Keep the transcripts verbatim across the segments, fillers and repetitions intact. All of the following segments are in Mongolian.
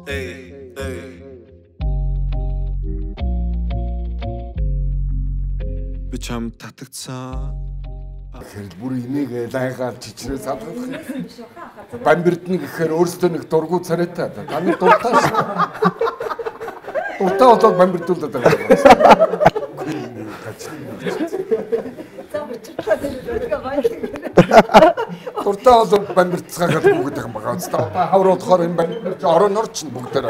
Ey, ey. Би чам татагцсан. Тэгэхээр бүр энийг лайгаар чичрээ салгах. Бамбирд нэг гэхээр өөрсдөө нэг дургу царайтай. Та нар дуртай шүү. Дуртай болоод бамбирдуулаад байгаа. Дуртай болоод бамбирцгаагаад бүгд их байгаа. Одоо хавруулахаар энэ бамбир орон орч бүгдээр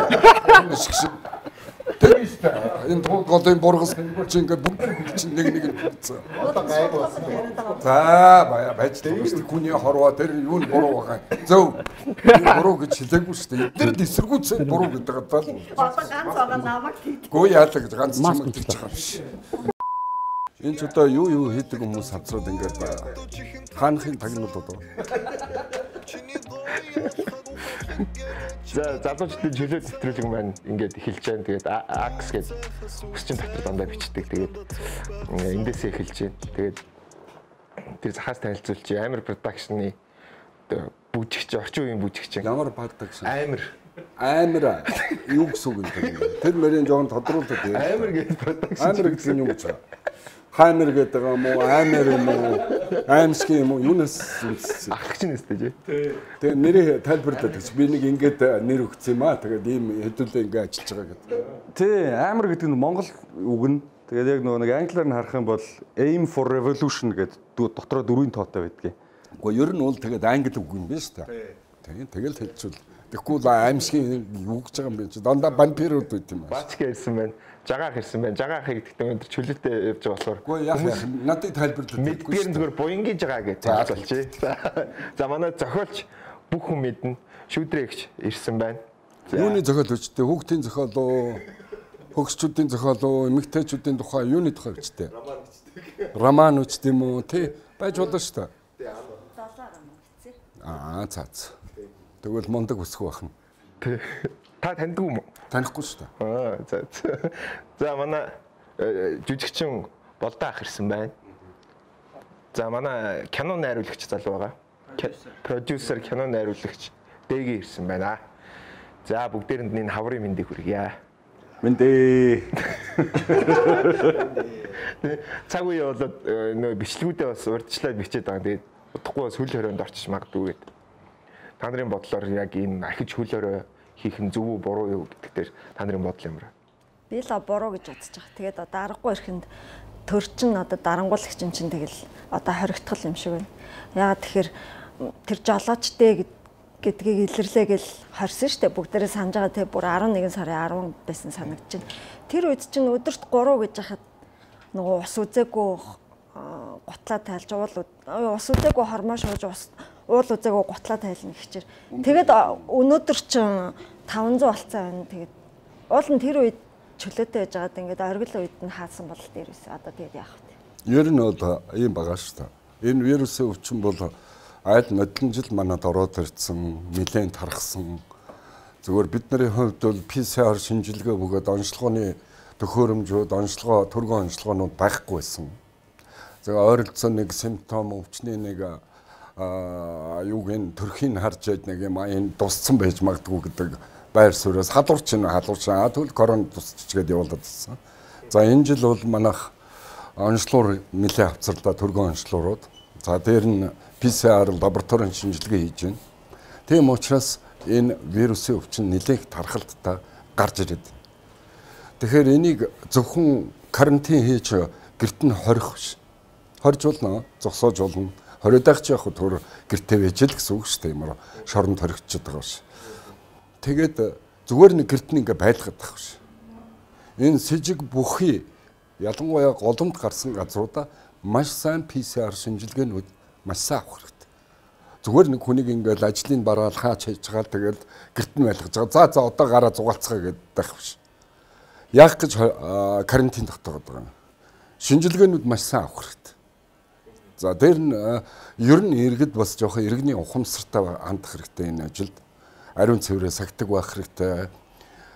шиг. Тэгэж та энэ голын бургас чинь ингээд бүгд чинь нэг нэг хийцээ. Одоо гайг болсон. За бая байж дээ. Хүний хорвоо тэр юу нь буруу байгаа. Зөв. Буруу гэж хэлээгүй шүү дээ. Тэр л эсэргүүцээ буруу гэдэг байгаа л. Одоо ганц байгаа намайг хийдэг. Гөө яадаг гэж ганц юм гэж байгаа юм шиг. Энэ ч одоо юу юу хийдэг хүмүүс хавцраад ингээд хаанхын тагнууд одоо. За залуучдын чөлөө нэвтрүүлэг маань ингээд эхэлж байна. Тэгээд Акс гэж өсчин дотор дандаа бичдэг. Тэгээд эндээсээ эхэлж байна. Тэгээд тэр захаас танилцуулж Амар продакшны бүжигч, орчин үеийн бүжигч. Ямар продакшн? Амар. Амар юу гэсэн үг юм. Тэр мөрийн жоон тодруулдаг. Амар гэж продакшн. Амар гэсэн юм уу? Хаймер гэдэг юм уу? Амар юм уу? Аймск юм уу? Юунаас ахч нэстэй тий. Тэгээ нэрээ тайлбарлаад гэж би нэг ингээд нэр өгсөн юм аа. Тэгээд ийм хэдүүлээ ингээд ажиллаж байгаа гэдэг. Тий, амар гэдэг нь Монгол үг нь. Тэгээд яг нөгөө нэг англиар нь харах юм бол aim for revolution гэдэг дотроо дөрвийн тоотой байдгийг. Гэхдээ ер нь бол тэгээд англи үг юм биш үү? Тий. Тэгэл хэлчихвэл тэгэхгүй л аймсгийн юу гэж байгаа юм бэ? Дандаа вампирууд байт юм аа. Бач гэсэн байна. Жагаах ирсэн байна. Жагаахыг гэдэгт өндөр чөлөөтэй явж байгаа болохоор. Үгүй яг надад тайлбарлаад мэдгүй. Би зүгээр буянгийн жагаа гэж тайлбарлаач. За манай зохиолч бүх хүн мэднэ. Шүүдрэгч ирсэн байна. Юуны зохиол өчтэй? Хүүхдийн зохиол уу? Хөгсчүүдийн зохиол уу? Эмэгтэйчүүдийн тухай юуны тухай өчтэй? Роман өчтэй. Роман өчтэй юм уу? Тий. Байж болно шүү дээ. Тий. Залаа роман өчтэй. Аа цаац. Тэгвэл мундаг өсөх байна. Тий. Та таньдаг юм уу? Танихгүй шүү дээ. Аа за. За манай жүжигчин болдоо ах ирсэн байна. За манай кино найруулагч залуу байгаа. Продюсер, кино найруулагч Дэги ирсэн байна. За бүгдээрэнд энэ хаврын мэндийг хүргье. Мэндээ. Цаг үе болоод нөө бичлэгүүдээ бас урьдчилаад бичээд байгаа. Тэгээд удахгүй бас хөл хорионд орчиж магадгүй гэдэг. Та нарын бодлоор яг энэ ахиж хөл хорой хийх нь зөв үү буруу юу гэдэг дээр та нарын бодол юмраа. Би л буруу гэж бодож байгаа. Тэгээд одоо аргагүй ихэнд төрчин одоо дарангуулагч чинь тэгэл одоо хоригдтол юм шиг байна. Яагаад тэгэхээр тэр жолоочтэй гэдгийг илэрлээ гэл хорсон штэ бүгдээрээ санаж байгаа те бүр арван нэгэн сарын арван байсан санагдаж байна. Тэр үед чинь өдөрт гурав гэж хахад нөгөө ус үзээгүй гутлаа тайлж уул ус үзээгүй хормоо шууж ус уул үзээгүй гутлаа тайлна гэхчээр. Тэгээд өнөөдөр чинь таван зуун болцсон байна. Тэгээд уул нь тэр үед чөлөөтэй байж байгаад ингээд оргил үед нь хаасан бол дээрээс одоо тэгээд яах вэ? Ер нь бол ийм байгаа шүү дээ. Энэ вирусын өвчин бол аль нодлон жил манад ороод ирсэн, нэлээд тархсан. Зөвхөн бидний хувьд бол пи си ар шинжилгээ бөгөөд онцлогооны төхөөрөмжүүд, онцлогоо, төргөн онцлогоонууд байхгүй байсан. За ойролцоо нэг симптом өвчний нэг а юуг энэ төрхийн харж яд нэг юм энэ дусцсан байж магадгүй гэдэг байр сууриас халуурч ин халуурч аа тэгвэл корон тусчгээд явуулаад байсан. За энэ жил бол манайх онцлогоор нэлээд авцарлаа төргөн онцлогоорууд. За дээр нь пи си ар лабораторийн шинжилгээ хийж байна. Тийм учраас энэ вирусын өвчин нэлээд тархалттай гарч ирээд. Тэгэхээр энийг зөвхөн карантин хийж гэрт нь хорих биш. Хорж болно, зогсоож болно. Хориодагч яг төр гэртээ байж л гэсэн үг шүү дээ. Ямар шоронд хоригдчиход байгаа ш. Тэгээд зүгээр нэг гэрт нь ингээ байлгаад байгаа ш. Энэ сэжиг бүхий ялангуяа голомт гарсан газруудаа маш сайн пи си ар шинжилгээнүүд маш сайн авах хэрэгтэй. Зүгээр нэг хүнийг ингээл ажлын бараал хаач хийж байгаа тэгэл гэрт нь байлгаж байгаа. За за одоо гараа зугаалцгаа гэдэг байх ш. Яг гэж карантин тогтоогод байгаа. Шинжилгээнүүд маш сайн авах хэрэгтэй. За дээр нь ер нь иргэд бас жоохон иргэний ухамсартай хандах хэрэгтэй энэ ажилд. Ариун цэврээ сагтаг байх хэрэгтэй.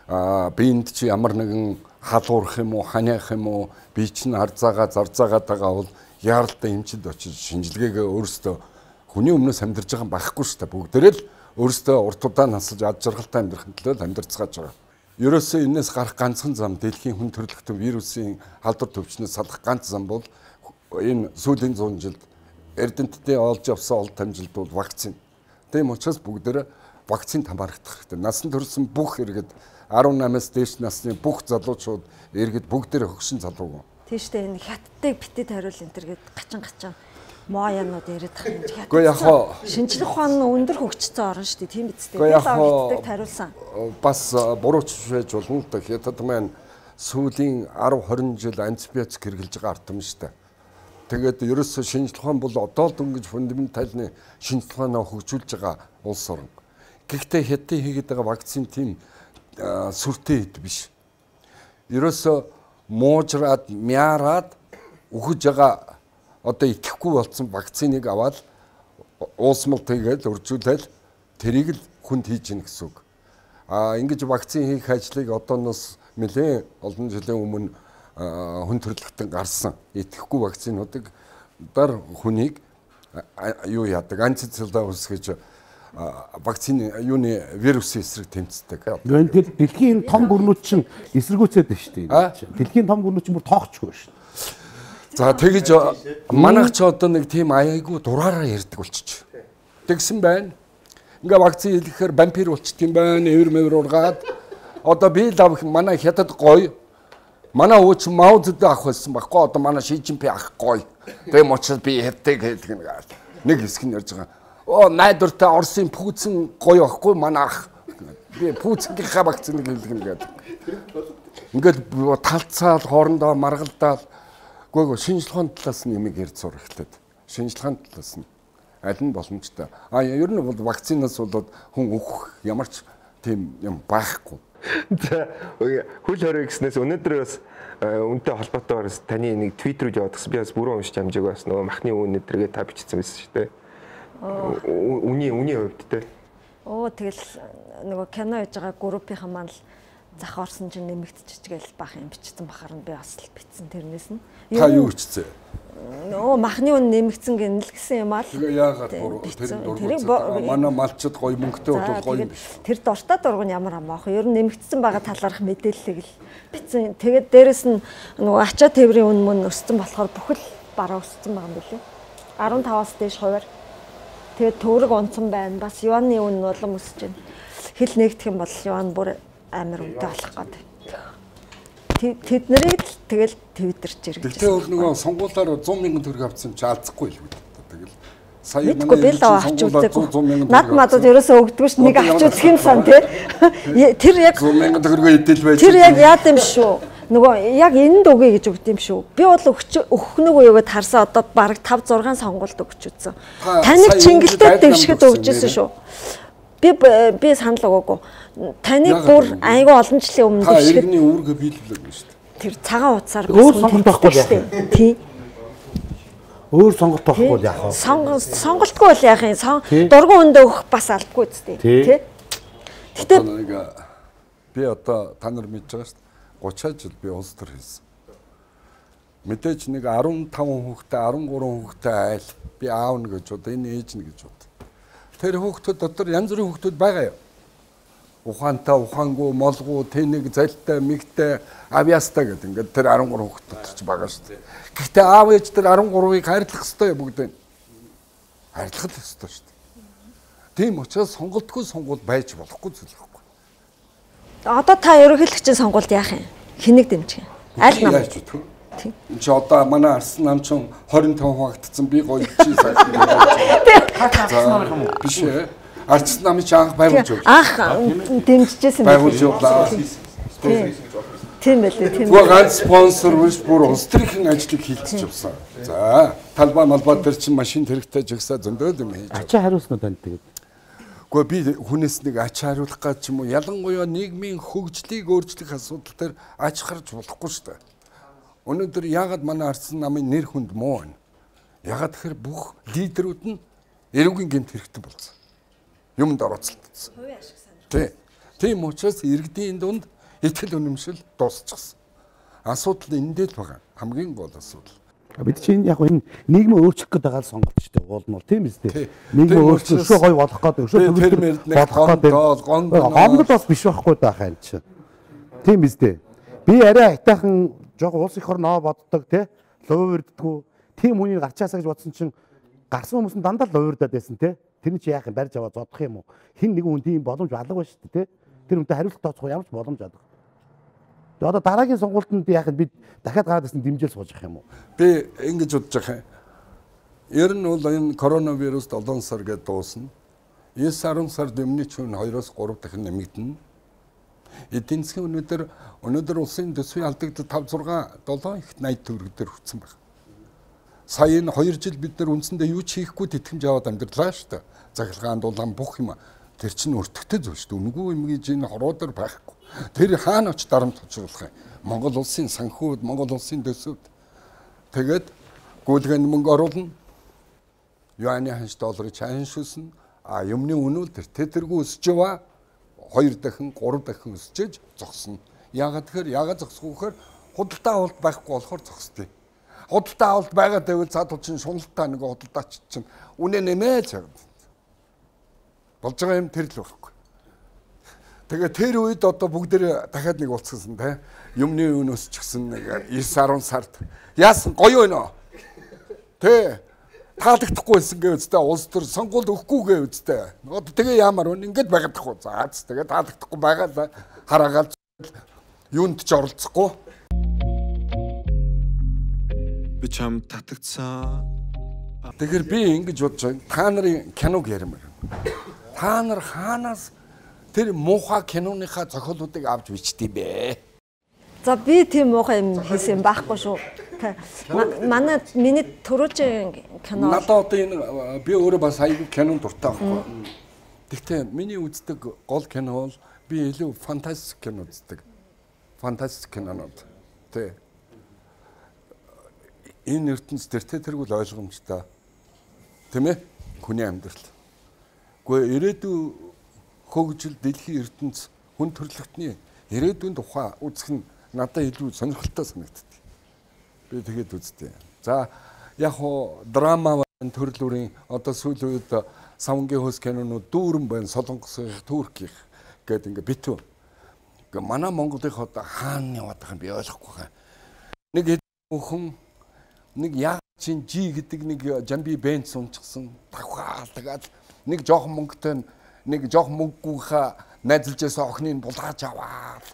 Аа биэнд чи ямар нэгэн халуурах юм уу, ханиах юм уу, бие чинь харцаагаа зарцаагаад байгаа бол яаралтай эмчилд очиж шинжилгээгээ өөрөөсөө хүний өмнөөс амьдарч байгаа байхгүй шүү дээ. Бүгдээрээ л өөрөөсөө урт удаан насаж ад жаргалтай амьдрахын төлөө амьдарцгааж байгаа. Ерөөсөө энэс гарах ганцхан зам дэлхийн хүн төрөлхтөн вирусын халдвар төвчнөөс салах ганц зам бол энэ сүүлийн зуун жилд Эрдэнэттэй олж авсан олд амжилт бол вакцин. Тийм учраас бүгдээрээ вакцинд хамаарах хэрэгтэй. Насан туршсан бүх иргэд арван намаас дээш насны бүх залуучууд иргэд бүгдээрээ хөгшин залуу. Тийштэй энэ хаттыг битэд хариул энэ төр гээд гачин гачин моянууд яриад байгаа юм. Хятад. Гэхдээ яг хоо шинжлэх ухаан нь өндөр хөгжсөн орн шүү дээ. Тийм биз дээ. Яг хоо хариулсан. Бас бурууч байж болно л да. Хятад маань сүүлийн арав хорин жил антибиотик хэрэглэж байгаа ард юм шүү дээ. Тэгээд ерөөсөө шинжлэх ухаан бол одоо л дөнгөж фундаментальны шинжлэх ухаанаа хөгжүүлж байгаа улс орн. Гэхдээ хятадын хийгээд байгаа вакцин тийм сүртэй хэд биш. Ерөөсөө муужраад, мяараад өгөж байгаа одоо итгэхгүй болсон вакциныг аваад уусмал тэгээд үржүүлэл тэрийг л хүнд хийж гин гэсэн үг. А ингэж вакцин хийх ажлыг одооноос нэлээд олон жилийн өмнө хүн төрөлхтөн гарсан итгэхгүй вакцинуудыг дар хүнийг юу яадаг антицеллулар үсгэж вакцины юуны вирусын эсрэг тэмцдэг. Тэгэхээр дэлхийн том гүрнүүд чинь эсэргүүцээд байна шүү дээ. Дэлхийн том гүрнүүд чинь бүр тоохчгүй шүү. За тэгэж манайх ч одоо нэг тийм аяйгуу дураараа ярьдаг болчих. Тэгсэн байна. Ингээ вакцин хийхээр вампир болчихд юм байна. Эвэр мэвэр ургаад одоо би лав манай хятад гоё. Манай ууч Мао Цзэдун ах байсан байхгүй. Одоо манай Ши Цзиньпин ах гоё. Тэм учраас би хятадыг хэлдэг нэг хэсэг нь ярьж байгаа. Оо найдвартай Оросын Путин гоё байхгүй манай ах. Би Путингийнхаа вакциныг хэлдэг нэгээд. Ингээд талцаал хоорондоо маргалдаал. Гүйгөө шинжлэх ухааны талаас нь юмыг ярьж сурах хэрэгтэй. Шинжлэх ухааны талаас нь аль нь боломжтой. А ер нь бол вакцинаас болоод хүн өөх ямар ч тийм юм байхгүй. За хөл хорой гэснээс өнөөдөр бас үнтэй холбоотойгоор таны нэг твит рүү яваад гисэн. Би бас бүрэн уншиж амжааг бас нөгөө махны үн өдргээ та бичсэн байсан шүү дээ. Үний үний хувьд те. Оо тэгэл нөгөө кино хийж байгаа группийнхан маань л зах орсон чинь нэмэгдчихэж гээл бах юм бичсэн бахаар нь би бас л бичсэн тэрнээс нь. Та юу бичсэн? Нөө махны үн нэмэгдсэн гэнэ л гэсэн юм аа. Тэгээ яагаад буруу тэр дургуй манай малчид гоё мөнгөтэй бол гоё юм биш. Тэр дуртай дургуй нь ямар амаах вэ? Ер нь нэмэгдсэн байгаа талаарх мэдээллийг л бичсэн. Тэгээд дээрэс нь нөгөө ачаа тээврийн үн мөн өссөн болохоор бүхэл бараа өссөн байгаа юм билээ. арван таваас дээш хувиар. Тэгээд төгрөг унцсан байна. Бас юаны үн улам өсөж байна. Хил нэгдэх юм бол юан бүр амар үнэтэй болох гэдэг. Тэд нарыг л тэгэл твиттерч ирэх. Тэгтээ өөр нөгөө сонгуулаар сто мянган төгрөг авсан чи алзахгүй л үү. Тэгэл сая манай авч үздэг. Над мадад ерөөсөө өгдөггүй ш нэг авч үзэх юм сан тий. Тэр яг сто мянган төгрөгөө идэл байж. Тэр яг яад юм шүү. Нөгөө яг энд өгье гэж өгд юм шүү. Би бол өгөх нэг үегээд харсаа одоо бараг тавь зургаан сонгуульд өгч үзсэн. Таныг чингэлтэй дэвшгэд өгчээсэн шүү. Би би санал өгөөгүй. Таныг бүр айгүй олон жилийн өмнө дэвшгэд. Та иргэний үүргээ биелүүлээгүй шүү дээ. Тэр цагаан утсаар өөр сонголт байхгүй яах вэ? Тий. Өөр сонголт байхгүй яах вэ? Сонголтгүй бол яах юм? Дургуун өндөө өгөх бас алдгүй үстэй. Тий. Гэтэ би одоо та нар мэдж байгаа шүү дээ. гутраа жил би улс төр хийсэн. Мэдээж нэг арван таван хүүхдээ арван гурван хүүхдээ айл би аав нь гэж одоо энэ ээж нь гэж бод. Тэр хүүхдүүд дотор янз бүрийн хүүхдүүд байгаа юу? Ухаантай, ухаангүй, молгүй, тэнэг, залтай, мигтэй, авьяастай гэдэг ингээд тэр арван гурван хүүхд дотор ч байгаа шүү дээ. Гэхдээ аав ээж тэр арван гурвыг хайрлах ёстой бүгдээ. Хайрлах л ёстой шүү дээ. Тийм учраас сонголтгүй сонгуул байж болохгүй зүйл байхгүй. Одоо та ерөнхийлөгчийн сонгуульд яах юм? Хэнийг дэмжих юм? Аль нам? Тийм. Чи одоо манай Арсан нам чин двадцать пять хуваагдсан би гоё чи сайхан. Биш ээ. Арсан намын чи анх байгуулж өгч. Анх дэмжижсэн байгуулж явлаа. Тийм байлээ, тийм. Гоо ганц спонсор биш бүр улс төрийн ажлыг хийлцэж явсан. За, талбай малбай дээр чин машин хэрэгтэй жигсаа зөндөө юм хийж. Ачаа хариулсан уу танд тэгээд? Гэхдээ би хүнээс нэг ач хариулах гэж юм уу ялангуяа нийгмийн хөгжлийг өөрчлөх асуудал дээр ач харж болохгүй шүү дээ. Өнөөдөр яагаад манай Арсан намын нэр хүнд муу байна? Яагаад тэгэхээр бүх лидерүүд нь эрүүгийн гэмт хэрэгтэй болсон. Юмд орооцолдсон. Хувийн ашиг санал. Тийм. Тийм учраас иргэдийн дунд итгэл үнэмшил дуусчихсан. Асуудал эндээ л байгаа. Хамгийн гол асуудал. Бид чинь яг энэ нийгмээ өөрчлөх гэдэг байгаа сонголт шүү дээ. Уул нь бол тийм биз дээ. Нийгмээ өөрчлөх, өшөө гоё болох гэдэг, өшөө төгөлдөр болох гэдэг. Гомдол бас биш байхгүй байхаа энэ чинь. Тийм биз дээ. Би арай хайтайхан жоо улс их орноо боддог те. Луурддгүү. Тийм хүний гарчаасаа гэж бодсон чинь гарсан хүмүүс нь дандаа л луурдаад байсан те. Тэр нь чи яах юм барьж аваад зодох юм уу? Хин нэгэн хүн тийм боломж алга байна шүү дээ те. Тэр үнтэй хариулт тооцох ямар ч боломж алга. Тэгээ одоо дараагийн сонгуультанд яах вэ? Бид дахиад гараад ирсэн дэмжээл сууж явах юм уу? Би ингэж бодож байгаа юм. Ер нь бол энэ коронавирус долоон сар гэдээ дуусна. девять десять сард өмнө чинь двоёроос гурав дахин нэмэгдэнэ. Эдийн засгийн өнөөдөр өнөөдөр улсын төсвийн алдагдлыг five six seven их eighty төгрөг дээр хүрсэн байна. Сая энэ two жил бид нар үндсэндээ юу ч хийхгүй тэтгэмж аваад амьдралаа шүү дээ. Захиргаан дулаан бүх юм тэр чинь өртөгтэй зүйл шүү дээ. Үнэгүй юм гэж энэ хоруудаар байхгүй. Тэр хаана оч дарамт хожруулах юм? Монгол улсын санхүүд, Монгол улсын төсөвд тэгээд гүйлгээнд мөнгө оруулна. Юаны ханш долларыг ханшуулна. А юмны үнэл тэр тэргүй өсөж яваа. Хоёр дахин, гурав дахин өсөж зогсно. Яагаад тэгэхээр яагаад зогсох вэ гэхээр худалдаа авалт байхгүй болохоор зогсдгийг. Худалдаа авалт байгаад байвал цаад чинь шуналтаа нэг худалдаач чинь үнэ нэмээд чад. Болж байгаа юм тэр л байхгүй. Тэгээ тэр үед одоо бүгдээ дахиад нэг уулзсан те. Юмны үн өсчихсэн нэг nine ten сард. Яасан гоё байна. Тэ таалагдахгүй байсан гэвэзтэй улс төр сонгуульд өгөхгүй гэвэзтэй. Одоо тэгээ ямар вэ? Ингээд байгаадахгүй. За тэгээ таалагдахгүй байгаа хараагаал юунд ч оролцохгүй. Би чам татагцсан. Тэгэхээр би ингэж бодож байгаа. Та нарын киног ярмаар. Та нар хаанаас тэр муухай киноныхаа зохиолуудыг авч бичдэг юм бэ? За би тийм муухай юм хийсэн байхгүй шүү. Манай миний төрөөжийн кино. Надад одоо энэ би өөрөө бас аягүй кинон дуртай байхгүй. Гэхдээ миний үздэг гол кино бол би илүү фантастик кино үздэг. Фантастик кинонууд. Тэ. Энэ ертөнц дээр тэргүүл ойлгомжтой. Тэ мэ? Хүний амьдрал. Гэхдээ ирээдүйн хөгжил дэлхийн ертөнц хүн төрөлхтний ирээдүйн тухай үзэх нь надад илүү сонирхолтой санагддаг. Би тэгээд үзтээ. За яг хоо драма төрлүүрийн одоо сүүлийн үед савнгийн хөөс кинонууд дүүрэн байна, солонгосын, туркийн гэдэг ингээ битүү. Ингээ манай Монголын одоо хаана яваад байгаа юм би ойлгохгүй байна. Нэг хүн нэг яг чин жи гэдэг нэг жамби бэнд сунчсан давхаал тэгээд нэг жоохон мөнгөтэй нэг жоохон мөнгөгүйхээ найзалжсэн охиныг булгааж аваад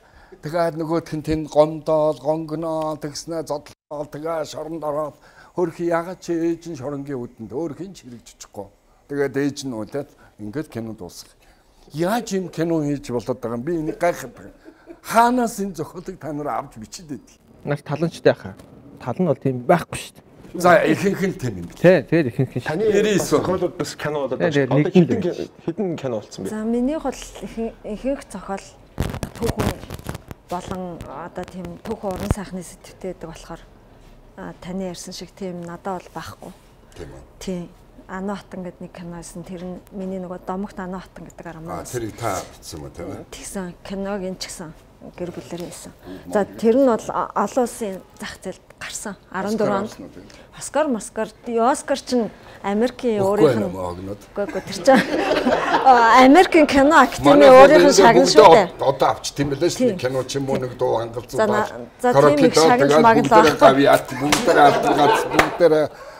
тэгээд нөгөөх нь тэнд гомдоол, гонгноо тэгснэ зодлоо тэгээ шоронд ороод хөрх ягаад чи ээж нь шоронгийн үдэнд өөр хин ч хэрэгжиж чадахгүй. Тэгээд ээж нь үлээд ингээд кино дуусгах. Яаж юм кино хийж болоод байгаа юм би энийг гайхаад байгаа. Хаанаас энэ зохиолыг та нар авч бичээд байдаг. Наас таланчтай хаа. Тал нь бол тийм байхгүй шүү дээ. За ихэнх нь тийм юм. Тий, тэр ихэнх нь. Таны зохиолууд бас кино болоод байна. Одоо хэдэн хэдэн кино болсон бэ? За минийх бол ихэнх зохиол түүхэн болон одоо тийм түүхэн уран сайхны сэтгвтэй байдаг болохоор таны ярьсан шиг тийм надад бол байхгүй. Тийм үү. Тийм. Ано хатан гэдэг нэг кино байсан. Тэр нь миний нөгөө домогт ано хатан гэдэг арамаа. Аа тэрийг та бичсэн юм тийм үү? Тэгсэн киног энэ ч гэсэн гэр бүлээр хийсэн. За тэр нь бол олон улсын зах зээлд гарсан. fourteen онд. Оскар, Москар, Оскар чинь Америкийн өөрийнх нь үгүй тэр чинь Америкийн кино академи өөрийнх нь шагнал шүү дээ. Одоо авч тийм байлаа шүү дээ. Кино ч юм уу нэг дуу хангалзуу баа. За тийм их шагнал маглаа. Гавьяат бүгдээр алдгац бүгдээр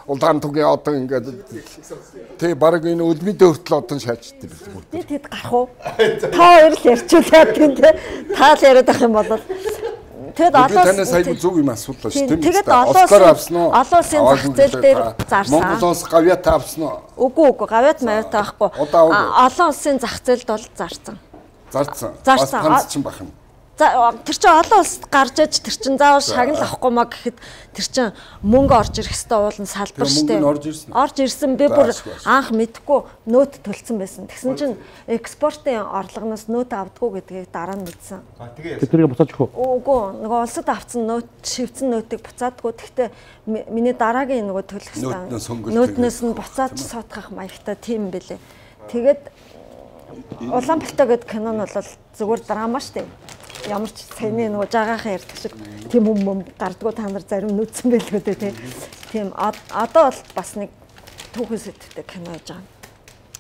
улаан тугийн одоо ингээд тий баг энэ өлмөдөө хүртэл одоо шаачдээ би. Би тэд гарах уу? Та хоёр л ярьчихлаа тийм тий. Та л яриад ах юм бол тэгэд олон танаас айгүй зүг юм асуудал шүү дээ. Тэгээд Оскар авсан уу? Олон улсын зах зээл дээр зарсан. Монголоос гавьяат авсан уу? Үгүй үгүй гавьяат маят байхгүй. Олон улсын зах зээлд бол зарсан. Зарсан. Зарсан. Ганц чинь бахна. За тэр чинь олон улсад гарч иж тэр чинь заавал шагнал авахгүй маа гэхэд тэр чинь мөнгө орж ирэх хэвээр уулын салбар штэ. Орж ирсэн би бүр анх мэдхгүй нөөт төлцсөн байсан. Тэгсэн чинь экспортын орлогоноос нөөт авдаггүй гэдгийг дараа нь мэдсэн. А тэгээ тэрийг буцааж өгөх үү? Үгүй нөгөө улсад авсан нөөт шивцэн нөөтийг буцаадгүй. Гэхдээ миний дараагийн нөгөө төлөх хэвээр нөөтнөөс нь буцааж суудах маягтай тийм байлээ. Тэгээд Улаанбаатар гэдэг кино нь бол зүгээр драма штэ. Ямар ч саяны нөгөө жагаахан ярьдаг шиг тийм юм гардгуу та нар зарим нүцсэн байлгүй дээ тий. Тийм одоо бол бас нэг түүхэн сэтгтэй кино хийж байгаа.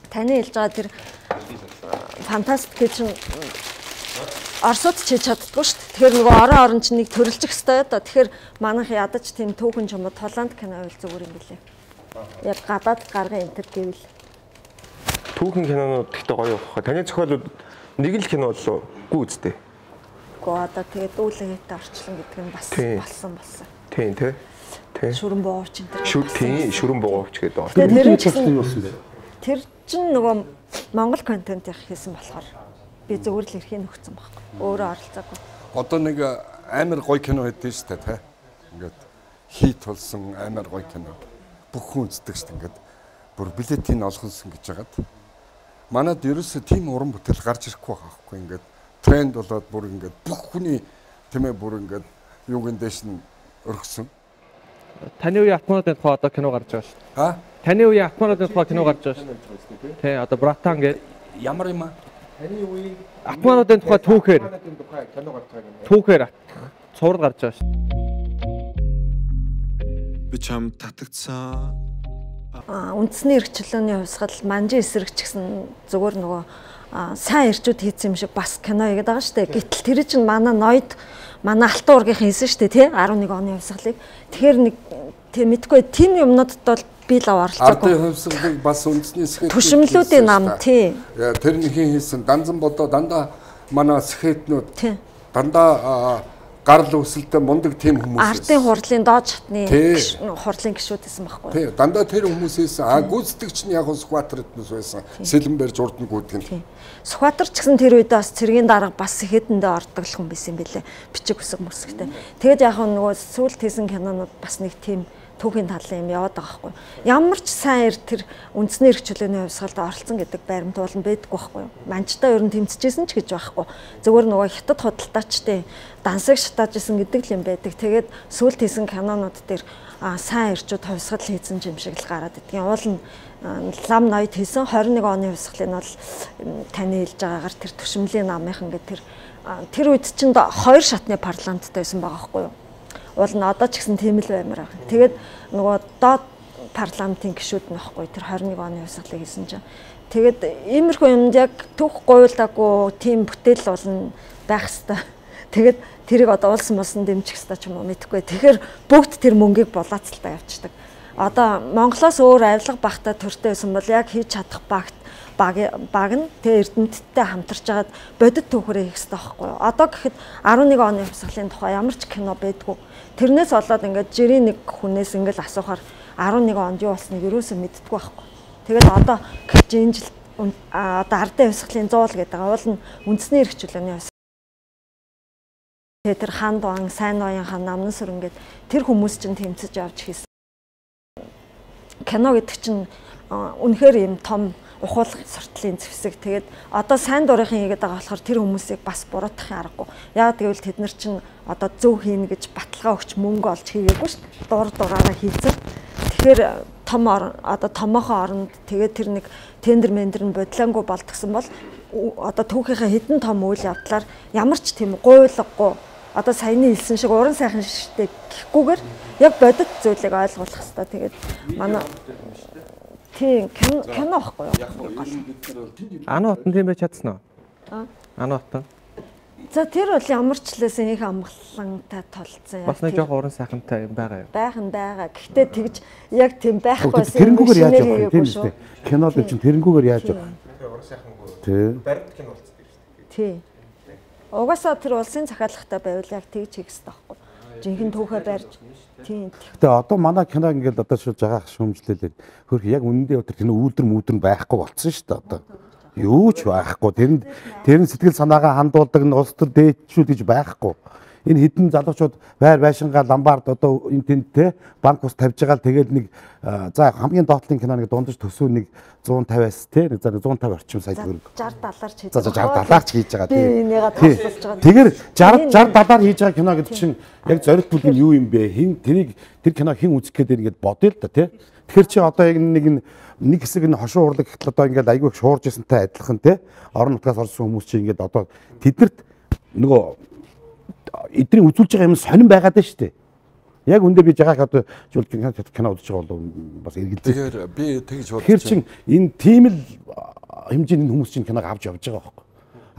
Таны хэлж байгаа тэр фантастик гэж Оросууд ч хийж чаддгүй шүү дээ. Тэгэхээр нөгөө орон орон ч нэг төрөлжих хэрэгтэй да. Тэгэхээр манайх ядаж тийм түүхэн ч юм уу Толанд кино байл зүгээр юм билээ. Яг гадаад гаргын энтер гэвэл түүхэн кинонууд гэхдээ гоё явах. Таны зохиолууд нэг л кино болов уу үстэй. Гэхдээ одоо тэгээд үүлгээтэй орчлон гэдэг нь бас болсон болсон. Тийм тий. Тий. Шүрэн бууч энэ. Шүр тий, шүрэн бууч гэдэг орсон. Тэр чинь юу вэ? Тэр чинь нөгөө Монгол контент их хийсэн болохоор би зөвөр л эрхийн өгсөн байхгүй. Өөрөө оролцоогүй. Одоо нэг амар гоё кино хийдэж штэ тий. Ингээд хит болсон амар гоё кино. Бүх хүн үздэг штэ ингээд бүр билетийн олгонсон гэж хагаад. Манад ерөөсөө тийм уран бүтээл гарч ирэхгүй байхгүй ингээд тренд болоод бүр ингээд бүх хүний тийм ээ бүр ингээд юугийн дэш нь өргөсөн. Таны үеийн Атмануудын тухай одоо кино гарч байгаа шүү. Аа? Таны үеийн Атмануудын тухай кино гарч байгаа шүү. Тий, одоо Братан гэдэг ямар юм аа? Таны үеийн Атмануудын тухай түүхээр кино гарч байгаа юм. Түүхээр цуврал гарч байгаа шүү. Би чам татагцсан. Аа үндэсний эрхчлөөний хувьсгал манжин эсрэгч гэсэн зүгээр нөгөө сайн эрчүүд хийсэн юм шиг бас кино хийгээд байгаа шүү дээ. Гэтэл тэр чинь манай ноёд манай алтан уургийнхан хийсэн шүү дээ тий арван нэг оны хувьсгалыг. Тэгэхээр нэг тий мэдгүй тийм юмнуудад бол би л оролцоогүй. Ардын хувьсгалыг бас үндэсний сэхэт түшмлүүдийн нам тий. Тэрнийхин хийсэн данзан бодоо дандаа манай сэхэтнүүд дандаа гарал үүсэлтэй мундаг тийм хүмүүс. Ардын хурлын доод шатны хурлын гишүүд байсан байхгүй. Тий, дандаа тэр хүмүүсээс а гүйцэтгэгч нь яг Сүхбаатар эднэс байсан. Сэлэнбэр журдан гүйдэг нь. Сүхбаатар ч гэсэн тэр үед бас цэргийн дарга бас сэхэдэндээ ордог хүн байсан юм билэ. Бичиг үсэг мөсгтэй. Тэгэд яг нөгөө сүүлд хийсэн кинонууд бас нэг тийм түүхийн талын юм яваад байгаа байхгүй. Ямар ч сайн эр тэр үндэсний эрх чөлөөний хувьсгалд оролцсон гэдэг баримт бол байдаггүй байхгүй. Манчтаа ер нь тэмцэжсэн ч гэж байхгүй. Зөвхөн нөгөө хятад худалдаачтай дансаг шатаажсэн гэдэг л юм байдаг. Тэгээд сүүлд хийсэн кинонууд дээр сайн эрчүүд хувьсгал хийсэн юм шиг л гараад идэгэн. Уул нь лам ноёд хийсэн хорин нэг оны хувьсгалыг бол таны хэлж байгаагаар тэр түшмлийн намынхан гэдэг тэр тэр үед чинь хоёр шатны парламенттай байсан байгаа байхгүй юу? Уул нь одоо ч гэсэн тийм л баймаар байна. Тэгээд нөгөө доод парламентын гишүүд нь байхгүй тэр хорин нэг оны хувьсгалыг хийсэн чинь. Тэгээд иймэрхүү юмд яг түүх гуйлдаагүй тийм бүтээл болно байх хэвээр. Тэгээд тэрийг одоо улс мусан дэмжих хэвээр ч юм уу мэдэхгүй. Тэгэхээр бүгд тэр мөнгийг булаацалтаа явчихдаг. Одоо Монголоос өөр авилга багтаа төртэй байсан бол яг хийж чадах багт баг баг нь тэ эрдэмтдтэй хамтарч агаад бодит түүхрээ хийх хэрэгтэй байхгүй юу? Одоо гэхэд арван нэг оны хувьсгалын тухай ямар ч кино байдгүй. Тэрнээс болоод ингээд жирийн нэг хүнээс ингээд асуухаар арван нэг онд юу болсныг ерөөсөө мэддэггүй байхгүй. Тэгээд одоо гэж энэ жил одоо ардын хувьсгалын зуул гэдэг уул нь үндэсний эрх чөлөөний хувьсгал. Тэр хаан дуан, сайн ноён хаан, намнан сүрэн гээд тэр хүмүүс чинь тэмцэж явж хийсэн. Кино гэдэг чинь үнэхээр юм том ухуулгын сортлын зэвсэг. Тэгээд одоо сайн дурынхан хийгээд байгаа болохоор тэр хүмүүсийг бас буруутгахын аргагүй. Яг тэгвэл тэд нар чинь одоо зөв хийнэ гэж баталгаа өгч мөнгө олж хийгээгүй шүү дээ. Дур дураараа хийцэн. Тэгэхээр том одоо томоохон оронд тэгээд тэр нэг тендер мендер нь бодлоонгүй болтгсон бол одоо түүхийнхээ хэдэн том үйл явдлаар ямар ч тийм гуйлгагүй одоо саяны хэлсэн шиг уран сайхан шиштэй гэхгүйгээр яг бодит зүйлийг ойлгуулах хэрэгтэй. Тэгээд манай тийм кино кино ахгүй юу? Ана хотон тийм байж чадсан уу? Аа. Ана хотон. За тэр бол ямар ч лээс их амгалантай толцсон. Бас нэг жоох уран сайхантай юм байгаа юу? Байх нь байгаа. Гэхдээ тэгж яг тийм байхгүйсэн. Тэрэнгүүгээр яаж явах юм тийм үү? Кинод чинь тэрэнгүүгээр яаж явах? Уран сайхангүй. Тий. Баримт кино болцсон шүү дээ. Тий. Угаасаа тэр улсын захиалгатай байвал яг тэгж хийх хэрэгтэй байхгүй. Жинхэнэ түүхээ барьж. Тийм. Гэтэ одоо манай кино ингээд одоо шууд жагаах шүүмжлэлээ. Хөрх яг үнэндээ тэр кино үүлдэр мүүдэр байхгүй болцсон шүү дээ одоо. Юу ч байхгүй. Тэрэнд тэрэн сэтгэл санаагаа хандуулдаг нь улс төр дээдчүүд гэж байхгүй. Энэ хідэн залуучууд байр байшингаа ламбард одоо энэ тэнд те банк ус тавьж байгаа л тэгээд нэг за хамгийн доотлын кино нэг дундаж төсөө нэг зуун тавиас те нэг за зуун тавь орчим сая төгрөг. шестьдесят долларч хийж байгаа. За шестьдесят долларч хийж байгаа тийм. Би энийгээ тооцоолж байгаа. Тэгэхээр шестьдесят шестьдесят доллар хийж байгаа кино гэдэг чинь яг зорилт бүлэг нь юу юм бэ? Хин тэрийг тэр кино хин үзэх гээд ингээд бодъё л да те. Тэгэхээр чи одоо яг нэг нэг хэсэг нь хошуу урлаг гэхэл одоо ингээд айгүй их шуурж ирсэнтэй адилхан те. Орон нутгаас орсон хүмүүс чи ингээд одоо тэднэрт нөгөө эдний үзүүлж байгаа юм сонирн байгаад байна шүү дээ. Яг үндэ би жагаах одоо жуулт кино үзэж байгаа бол бас эргэлзээ. Тэгэхээр би тэгж бодож Тэр чин энэ тийм л хэмжээний хүмүүс чинь киног авч явж байгаа байхгүй.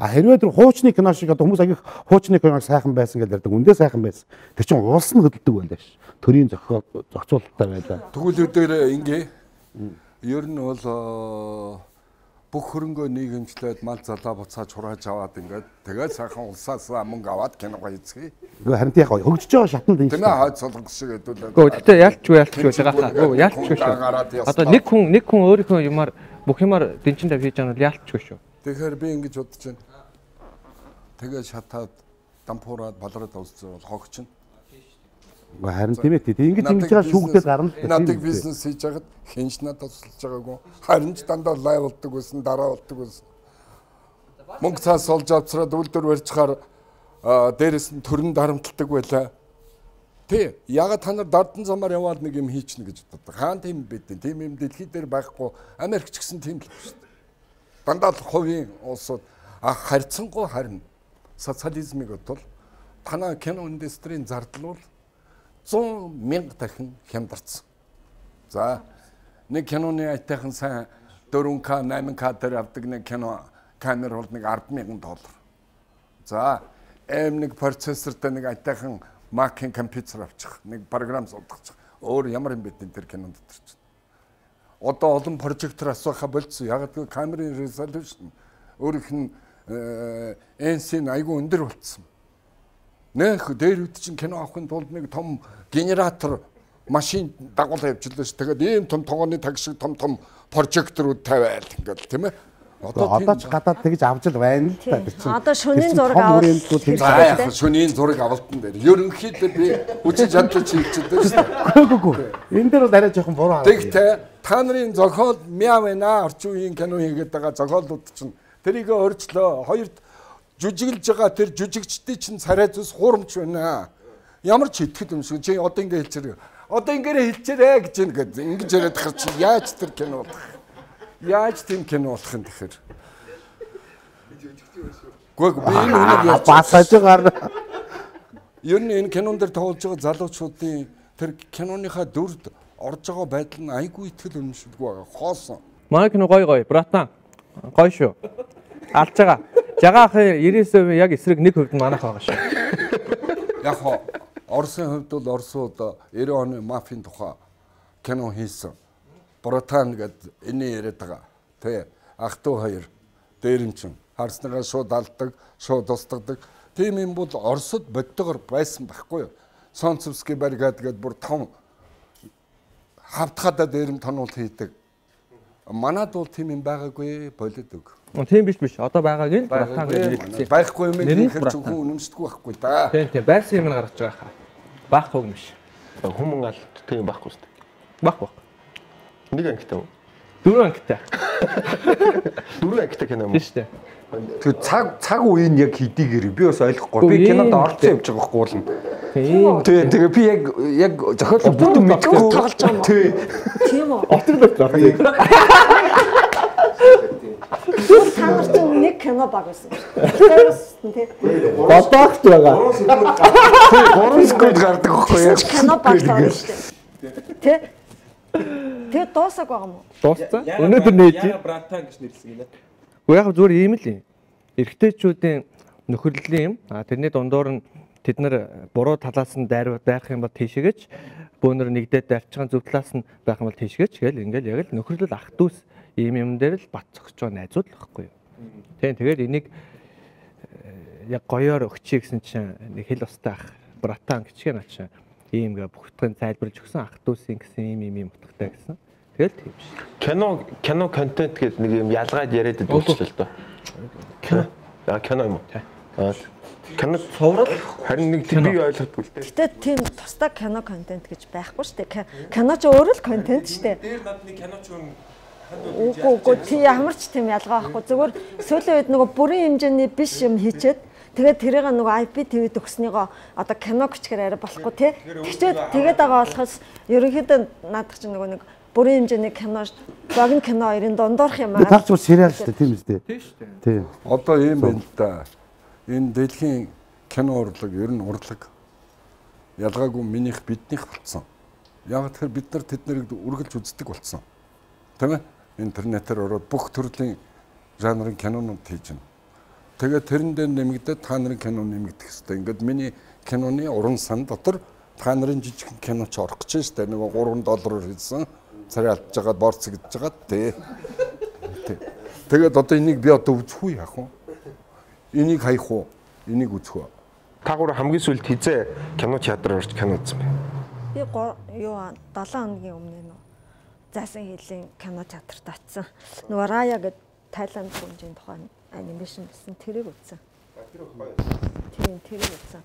А хэрвээ тэр хуучны кино шиг одоо хүмүүс агих хуучны киног сайхан байсан гэж ярьдаг. Үндэ сайхан байсан. Тэр чин улс нь хөдөлдөг байлаа ш. Төрийн зохиол зохицуулалттай байлаа. Тэгвэл өдөр ингээ ер нь бол бүх хөрөнгөө нийгэмжлээд мал залаа буцааж хурааж аваад ингээд тэгээд сайхан улсаас мөнгө аваад киногоо эзэхий. Гэхдээ харин яг хөгжиж байгаа шатнд энэ. Тэмээ хойд солонгос шиг хэдүүлээ. Гэхдээ тэгтээ ялчгүй ялчгүй жагаахаа. Гөө ялчгүй шүү. Одоо нэг хүн нэг хүн өөрийнхөө юмар бүх юмар дэнчин тавь хийж байгаа нь ялчгүй шүү. Тэгэхээр би ингэж бодож байна. Тэгээд шатаад дампуураад балраад олцсон бол хогч нь. Харин тийм ээ. Ингэж ингэж байгаа шүүгдээд гарна. Надад бизнес хийж байгаад хинж надад тусалж байгаагүй. Харин ч дандаа лайв болдог байсан, дараа болдог байсан. Мөнгө цаас олж авцраад үлдэр барьчихаар дээрээс нь төрн дарамтлагдаг байлаа. Тэ ягаад та нар дардан замаар яваад нэг юм хийчихнэ гэж боддог. Хаан тийм байдیں۔ Тийм юм дэлхий дээр байхгүй. Америк ч гэсэн тийм л байна шүү дээ. Дандаа л хувийн улсууд харьцангуй харин социализмыг бодвол танаа кино индустрийн зардал бол зуун мянга дахин хямдарсан. За нэг киноны айтайхан сайн дөрвөн К найман К дээр авдаг нэг кино камер бол нэг ард мянган доллар. За эм нэг процессортай нэг айтайхан Mac-ын компьютер авчих, нэг програм суулгах. Өөр ямар юм бэ тэр кинонд дотор чинь. Одоо олон прожектор асууха болцсон. Яг л камерын resolution өөрөх нь эн си айгүй өндөр болцсон. Нөх дээр үт чинь кино авахын тулд нэг том генератор машин дагуулж явжлаа ш. Тэгээд ийм том тогооны таг шиг том том прожекторууд тавиал ингээл тийм ээ. Одоо ч гадаад тэгж авч л байна л та тэр чинь. Одоо шөнийн зураг авах. Шөнийн зураг авалтан дээр. Ерөнхийдөө би үжиж чадчих хэлчихдэг шүү дээ. Үгүй үгүй. Энэ дээр бол арай жоохон буруу харагдав. Тэгтээ та нарын зохиол мяа байна. Орчин үеийн кино хийгээд байгаа зохиолууд чинь тэрийг өөрчлөө. Хоёрт жүжиглж байгаа тэр жүжигчдийн чинь царай зүс хуурамч байна. Ямар ч итгэл юм шиг чи одоо ингэ хэлчихэр. Одоо ингээрэ хэлчихэрэ гэж ингээд ингэж яриад хар чи яаж тэр кино болох? Яаж тийм кино болох юм тэгэхээр? Гүг би энэ үнээр басаж байгаа. Ер нь энэ кинон дээр тоглож байгаа залуучуудын тэр киноныхаа дүрд орж байгаа байдал нь айгүй итгэл үнэмшилгүй байгаа. Хоосон. Манай кино гоё гоё. Братан. Гоё шүү. Алж байгаа. Жагаахын девяносто процент яг эсрэг нэг хувьд манайх байгаа шүү. Яг хоо Оросын хувьд бол Оросууд девяносто оны мафийн тухай кино хийсэн. Братан гэдэг энэ яриад байгаа. Тэ ах トゥ хоёр дээрэмчин харснагаа шууд алдаг, шууд устгадаг. Тийм юм бол Оросд боддогоор байсан байхгүй юу? Сонцовский баригад гэдэг бүр том хавтгадаа дээрэм тонуул хийдэг. Манад бол тийм юм байгаагүй болоод өг. Тийм биш биш. Одоо байгааг нь Братан гэж хэлсэн. Байхгүй юм ихэр зөвхөн үнэмшдэггүй байхгүй да. Тийм тийм байсан юм гаргаж байгаа хаа. Байхгүй юм биш. Хүмүүн алт тийм байхгүй шүү дээ. Баг баг. Нэг ангитай уу? Дөрөв ангитай. Дөрөв ангитай кино юм уу? Тийм шүү дээ. Тэр цаг цаг үеийн яг хэдийгээр би бас ойлгохгүй. Би кинонд орцсон явж байгаа байхгүй болно. Тийм. Тэгээ тэгээ би яг яг зохиолын бүтэн мэдгүй тоглож байгаа. Тий. Тийм үү? Отрол байна. Та нар чинь нэг кино баг байсан. Тэрс тий. Бодоогт байгаа. Гурван секунд гардаг байхгүй яг кино баг байна шүү дээ. Тэ? Тэ дуусаг байгаа юм уу? Дууссан. Өнөөдөр нээж. Яга Братан гэж нэрлсэн юм. Уу яг зүгээр ийм л юм. Эрэгтэйчүүдийн нөхөрлөлийн юм. А тэрний дундуур нь тэд нар буруу талаас нь дайр байх юм бол тийшээгээч бөөнөр нэгдээд дарчхан зөв талаас нь байх юм бол тийшээгээч гээл ингээл яг л нөхөрлөл ах дүүс ийм юм дээр л бат зогсож байгаа найзууд л байхгүй юу. Тийм тэгээд энийг яг гоёор өгчий гэсэн чинь нэг хэл устай ах Братан гिचгээ наа чинь ийм гэ бүгдгэн зайлбарлаж өгсөн ах дүүсийн гэсэн ийм ийм юм утгатай гэсэн. Тэгэл тийм ш. Кино кино контент гэдэг нэг юм ялгаад яриад байдаг л доо. Кино. Аа кино юм уу? Аа кино цоврал харин нэг би ойлгохгүй л дээ. Гэтэ тийм тусдаа кино контент гэж байхгүй шүү дээ. Кино ч өөрөө л контент шүү дээ. Дээр над нэг киноч юм Үгүй үгүй тий ямар ч тийм ялгаа байхгүй. Зүгээр сүүлийн үед нөгөө бүрийн хэмжээний биш юм хийчээд тэгээд тэрийг нөгөө ай пи ти ви төгснийгоо одоо кино гिचгээр арай болохгүй тий. Тэгчээд тэгээд байгаа болохоос ерөнхийдөө наадах чинь нөгөө нэг бүрийн хэмжээний кино богино кино хоёрын дундуурх юм аа. Таарч бол сериал шүү дээ тийм үстэй. Тийм шүү дээ. Тийм. Одоо ийм байна л да. Энэ дэлхийн кино урлаг ер нь урлаг. ялгаагүй минийх биднийх болсон. Яг тэгэхээр бид нар тэд нарыг үргэлж үздэг болсон. Тийм ээ? Интернетээр ороод бүх төрлийн жанрын кинонууд хийж байна. Тэгээд тэрэн дээр нэмэгдээд та нарын кино нэмэгдэх хэрэгтэй. Ингээд миний киноны уран сан дотор та нарын жижиг кино ч орох гэж штэ. Нэг гурван доллараар хийсэн. Царай алдж байгаа борцогдож байгаа тий. Тэгээд одоо энийг би одоо үзэх үү яах вэ? Энийг хаях уу? Энийг үзэх үү? Та гур хамгийн сүүлд хизээ кино театраар орж кино үзсэн бэ? Би юу долоон хоногийн өмнө нөө Зайсан хийлийн кино театрт очсон. Нөгөө Рая гэдэг Тайланд гүнжийн тухайн анимашн гэсэн тэрийг үзсэн. Тийм тэрийг үзсэн.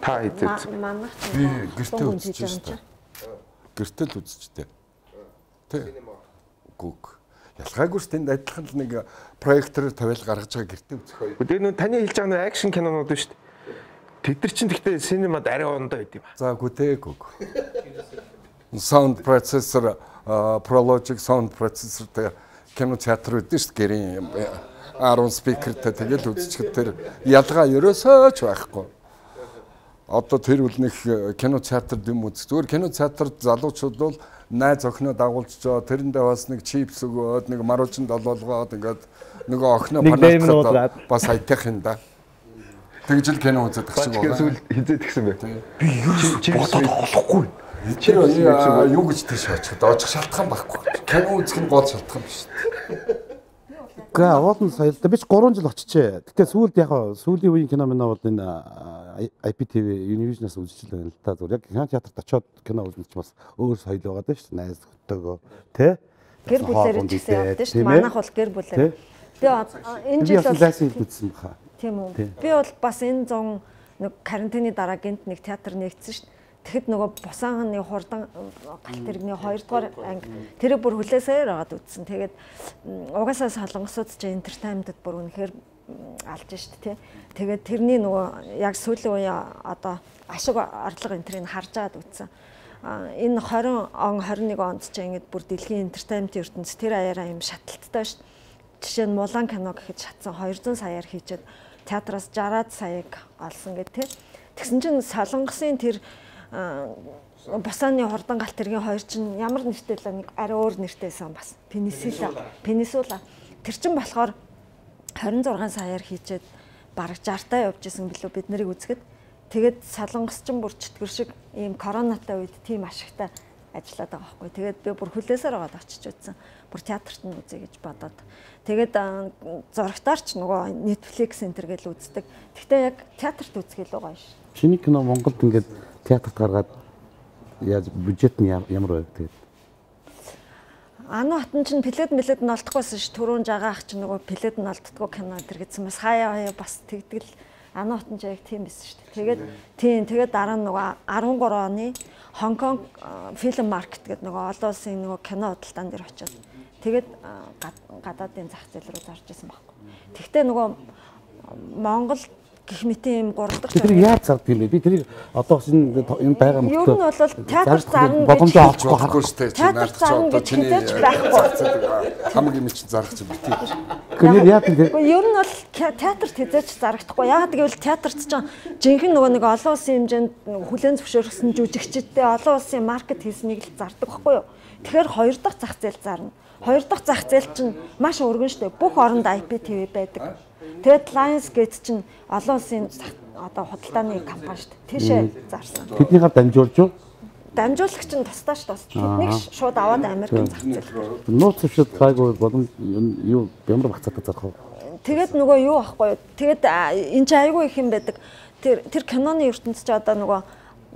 Та хизээ манайх би гэртээ үзчихсэн. Гэртээ л үзчихтэй. Тэ. Гүг. Ялгаагүй ч тэнд адилхан л нэг проектор тавиал гаргаж байгаа гэртээ үзэх. Тэгээ нөө таны хэлж байгаа нөө акшн кинонууд шүү дээ. Тэд нар чинь гэхдээ синемад арай ондоо байд юм ба. За гүтээгүг. Sound processor, Prologic sound processor тэгээ кино театр үүдэн шүү дээ. Гэрийн арван спикертэй тэгэл үзчихэл тэр ялгаа ерөөсөө ч байхгүй. Одоо тэр үл нэг кино театр дэм үз. Зүгээр кино театрт залуучууд бол найз охиноо дагуулж жоо тэрэндээ бас нэг чипс өгөөд нэг маружин долоолгоод ингээд нөгөө охиноо палаткаад бас айтах юм да. Тэгж л кино үзээд тахчих байна. Сүүл хизээд гисэн бэ. Би юу бодоод болохгүй. Чи юу гэж тийш очих доочих шалтгаан байхгүй. Кино үзэх нь гол шалтгаан биш. Гэ уулын соёлтой би ч гурван жил очижээ. Гэтэ сүүлд яг сүүлийн үеийн кино минь бол энэ ай пи ти ви Univision-аас үзчихэл байна л та. Зүгээр яг кино театрт очиод кино үзэх ч бас өөр соёл байгаа даа шүү. Найз хөтөөгөө тэ. Гэр бүлээр ч гэсэн явдаг шүү. Манайх бол гэр бүлээр. Би энэ жил бол Зайсан хил үзсэн баха. Тийм үү. Би бол бас энэ зун нэг карантины дараа гинт нэг театр нэгдсэн шүү. Тэгэхэд нөгөө Бусааны хурдан галт тэрэгний хоёрдугаар анги тэрийг бүр хүлээсээр агаад үзсэн. Тэгээд угаасаа солонгосууд ч entertainment-д бүр үнэхээр алж шít тий. Тэгээд тэрний нөгөө яг сүүлийн үеийн одоо ашиг орлого энтрийг харж агаад үзсэн. Энэ двадцать он двадцать нэг онд ч ингэж бүр дэлхийн entertainment-ийн ертөнц тэр аяараа юм шаталттай шүү. Жишээ нь Мулан кино гэхэд шатсан двести саяар хийчихэд театраас шестьдесят саяг олсон гэх тий. Тэгсэн чинь солонгосын тэр Бусааны хурдан галт тэргийн хоёр чинь ямар нэртэй л нэг арай өөр нэртэйсэн бас. Пенисула. Пенисула. Тэр чинь болохоор двадцать шесть саяар хийчихэд бараг шестьдесят таа явж исэн билүү бид нарыг үзэхэд. Тэгээд солонгос ч бүр чөтгөр шиг ийм коронатай үед тийм ашигтай ажиллаад байгаа байхгүй. Тэгээд би бүр хүлээсээр байгаад очиж үзсэн. Бүр театрт нь үзье гэж бодоод. Тэгээд зурагтаар ч нөгөө Netflix энтер гэж үздэг. Гэхдээ яг театрт үзэх илүү гоё ш. Шинэ кино Монголд ингээд театрт гаргаад яаж бюджет нь ямар байв тэгээд? Ано хотон чинь плед мэлэд нь олдохгүйсэн ш. Түрүүн жагаах чинь нөгөө плед нь олддгоо кино энтер гэсэн бас хаяа хаяа бас тэгдэл Ано хотон яг тийм байсан шүү дээ. Тэгээд тийм тэгээд дараа нь нөгөө дөрвөн оны Хонконг фильм маркет гэдэг нөгөө олон улсын нөгөө кино худалдаан дээр очиод тэгээд гадаадын зах зээл рүү зарж исэн байхгүй. Тэгвэл нөгөө Монгол гэх мэт юм гурав дахь тэр яаж зардаг юм бэ? Би тэрийг одоо энэ энэ байгаа мөртөө. Ер нь бол театр зарна боломжтой олохгүй харахгүй шүү дээ. Театр зарна гэж хэлж байхгүй. Хамгийн мэд чинь зарах чинь битээ. Гэхдээ яа тэр ер нь бол театрт хязгаарч зарагдахгүй. Яагаад гэвэл театрт чинь жинхэнэ нөгөө нэг олон улсын хэмжээнд хүлээн зөвшөөрсөн жүжигчдтэй олон улсын маркет хийснийг л зардаг байхгүй юу? Тэгэхээр хоёр дахь зах зээл зарна. Хоёр дахь зах зээл чинь маш өргөн шүү дээ. Бүх оронд ай пи ти ви байдаг. Тэгээд Lionsgate чинь олон улсын одоо худалдааны компани шүү дээ. Тийшээ зарсан. Тэднийхээ дамжуулж юу? Дамжуулагч нь тусдаа шүү дээ. Тэднийг шууд аваад Америкт зах зээл. Нууц шууд гайгүй болон юу ямар багцаатай зарах вэ? Тэгээд нөгөө юу ахгүй юу? Тэгээд энэ чинь айгүй их юм байдаг. Тэр тэр киноны ертөнцид ч одоо нөгөө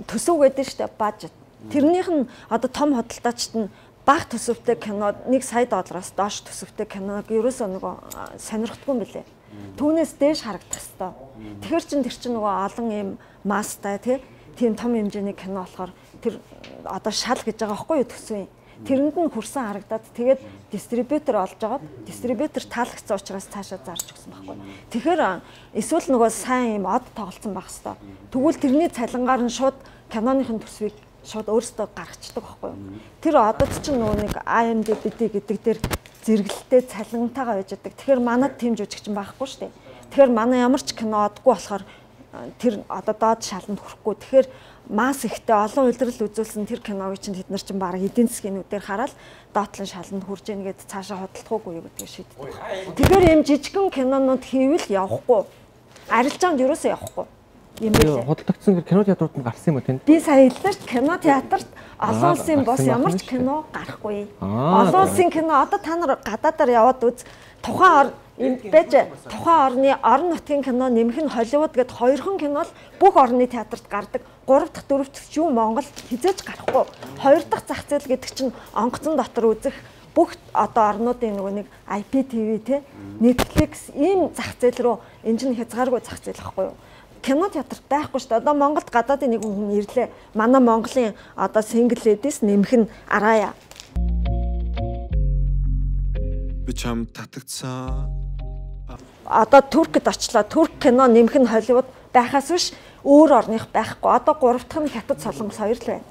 төсөв гэдэг шүү дээ. Бажет. Тэрнийх нь одоо том худалдаачд нь бага төсөвтэй кино нэг сая доллараас доош төсөвтэй киног ерөөсөө нөгөө сонирхдаггүй юм билээ. Түүнээс дээш харагдах хэвээр. Тэгэхэр чин тэр чин нөгөө олон юм мастай тийм том хэмжээний кино болохоор тэр одоо шал гэж байгаа байхгүй юу төсвийн. Тэрэнд нь хүрсэн харагдаад тэгээд дистрибьютор олж агаад дистрибьютор таалагдсан учраас цаашаа зарж өгсөн байхгүй. Тэгэхээр эсвэл нөгөө сайн юм од тоглолцсон байх хэвээр. Тэгвэл тэрний цалингаар нь шууд киноныхын төсвийг шууд өөрөөсөө гаргацдаг байхгүй юу. Тэр одод чинь нөгөө нэг ай эм ди би гэдэг дээр зэрэгэлтэй цалинтайгаа байж байгаа. Тэгэхээр манад тийм жүжигчин байхгүй шүү дээ. Тэгэхээр манай ямар ч кино одгүй болохоор тэр одоо доод шаланд хүрэхгүй. Тэгэхээр масс ихтэй олон улирал үзүүлсэн тэр киног чинь тэд нар чинь баг эдийн засгийнүүдээр хараад доотлон шаланд хүрж ийн гэд цаашаа хөдөлгөөгүй юу гэдгийг шийддэг. Тэгэхээр ийм жижигхэн кинонууд хийвэл явахгүй. Арилжаанд юусоо явахгүй. Юм билээ. Хөдөлгдсөн кино театрууд нь гарсан юм уу тэнд? Би сая хэллээ шүү. Кино театрт олон улсын бос ямар ч кино гарахгүй. Олон улсын кино одоо та нар гадаадаар яваад үз. Тухайн энэ байж тухайн орны орон нутгийн кино нэмэх нь Холливуд гэд хоёрхан кино л бүх орны театрт гардаг. Гурав дахь дөрөв дахь ч юм Монгол хизээж гарахгүй. Хоёр дахь зах зээл гэдэг чинь онгоцон дотор үзэх бүх одоо орнуудын нөгөө нэг ай пи ти ви те Netflix ийм зах зээл рүү энэ чинь хязгааргүй зах зээл байхгүй юу? Кино театр байхгүй шүү дээ. Одоо Монголд гадаадын нэг хүн ирлээ. Манай Монголын одоо single ladies нэмэх нь араая. Би чам татагцсан. Одоо Туркид очлоо. Турк кино нэмэх нь Холливуд байхаас биш өөр орных байхгүй. Одоо гурав дахь нь Хятад Солонгос хоёр л байна.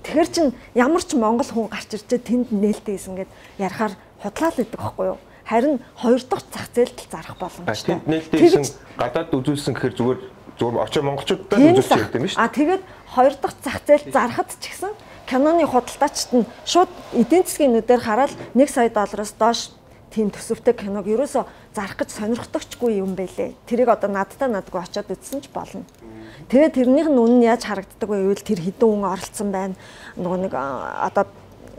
Тэгэхэр чин ямар ч монгол хүн гарч ирчээ тэнд нээлттэй хийсэн гэд ярахаар худлаа л идэг байхгүй юу? Харин хоёр дахь зах зээлд зарах боломжтой. Тэнд нээлттэй хийсэн гадаад үзүүлсэн гэхээр зүгээр зүгээр очоо монголчуудад үзүүлж ярьдаг юм шүү. А тэгээд хоёр дахь зах зээлд зарахад ч гэсэн киноны худалдаачид нь шууд эдийн засгийн нүдээр хараад нэг сая доллароос доош тийм төсөвтэй киног ерөөсө зарах гэж сонирхдогчгүй юм байлээ. Тэрийг одоо надтай надгүй очиод үзсэн ч болно. Тэгээд тэрнийх нь үнэн яаж харагддаг вэ гэвэл тэр хэдэн хүн оролцсон байна. Нөгөө нэг одоо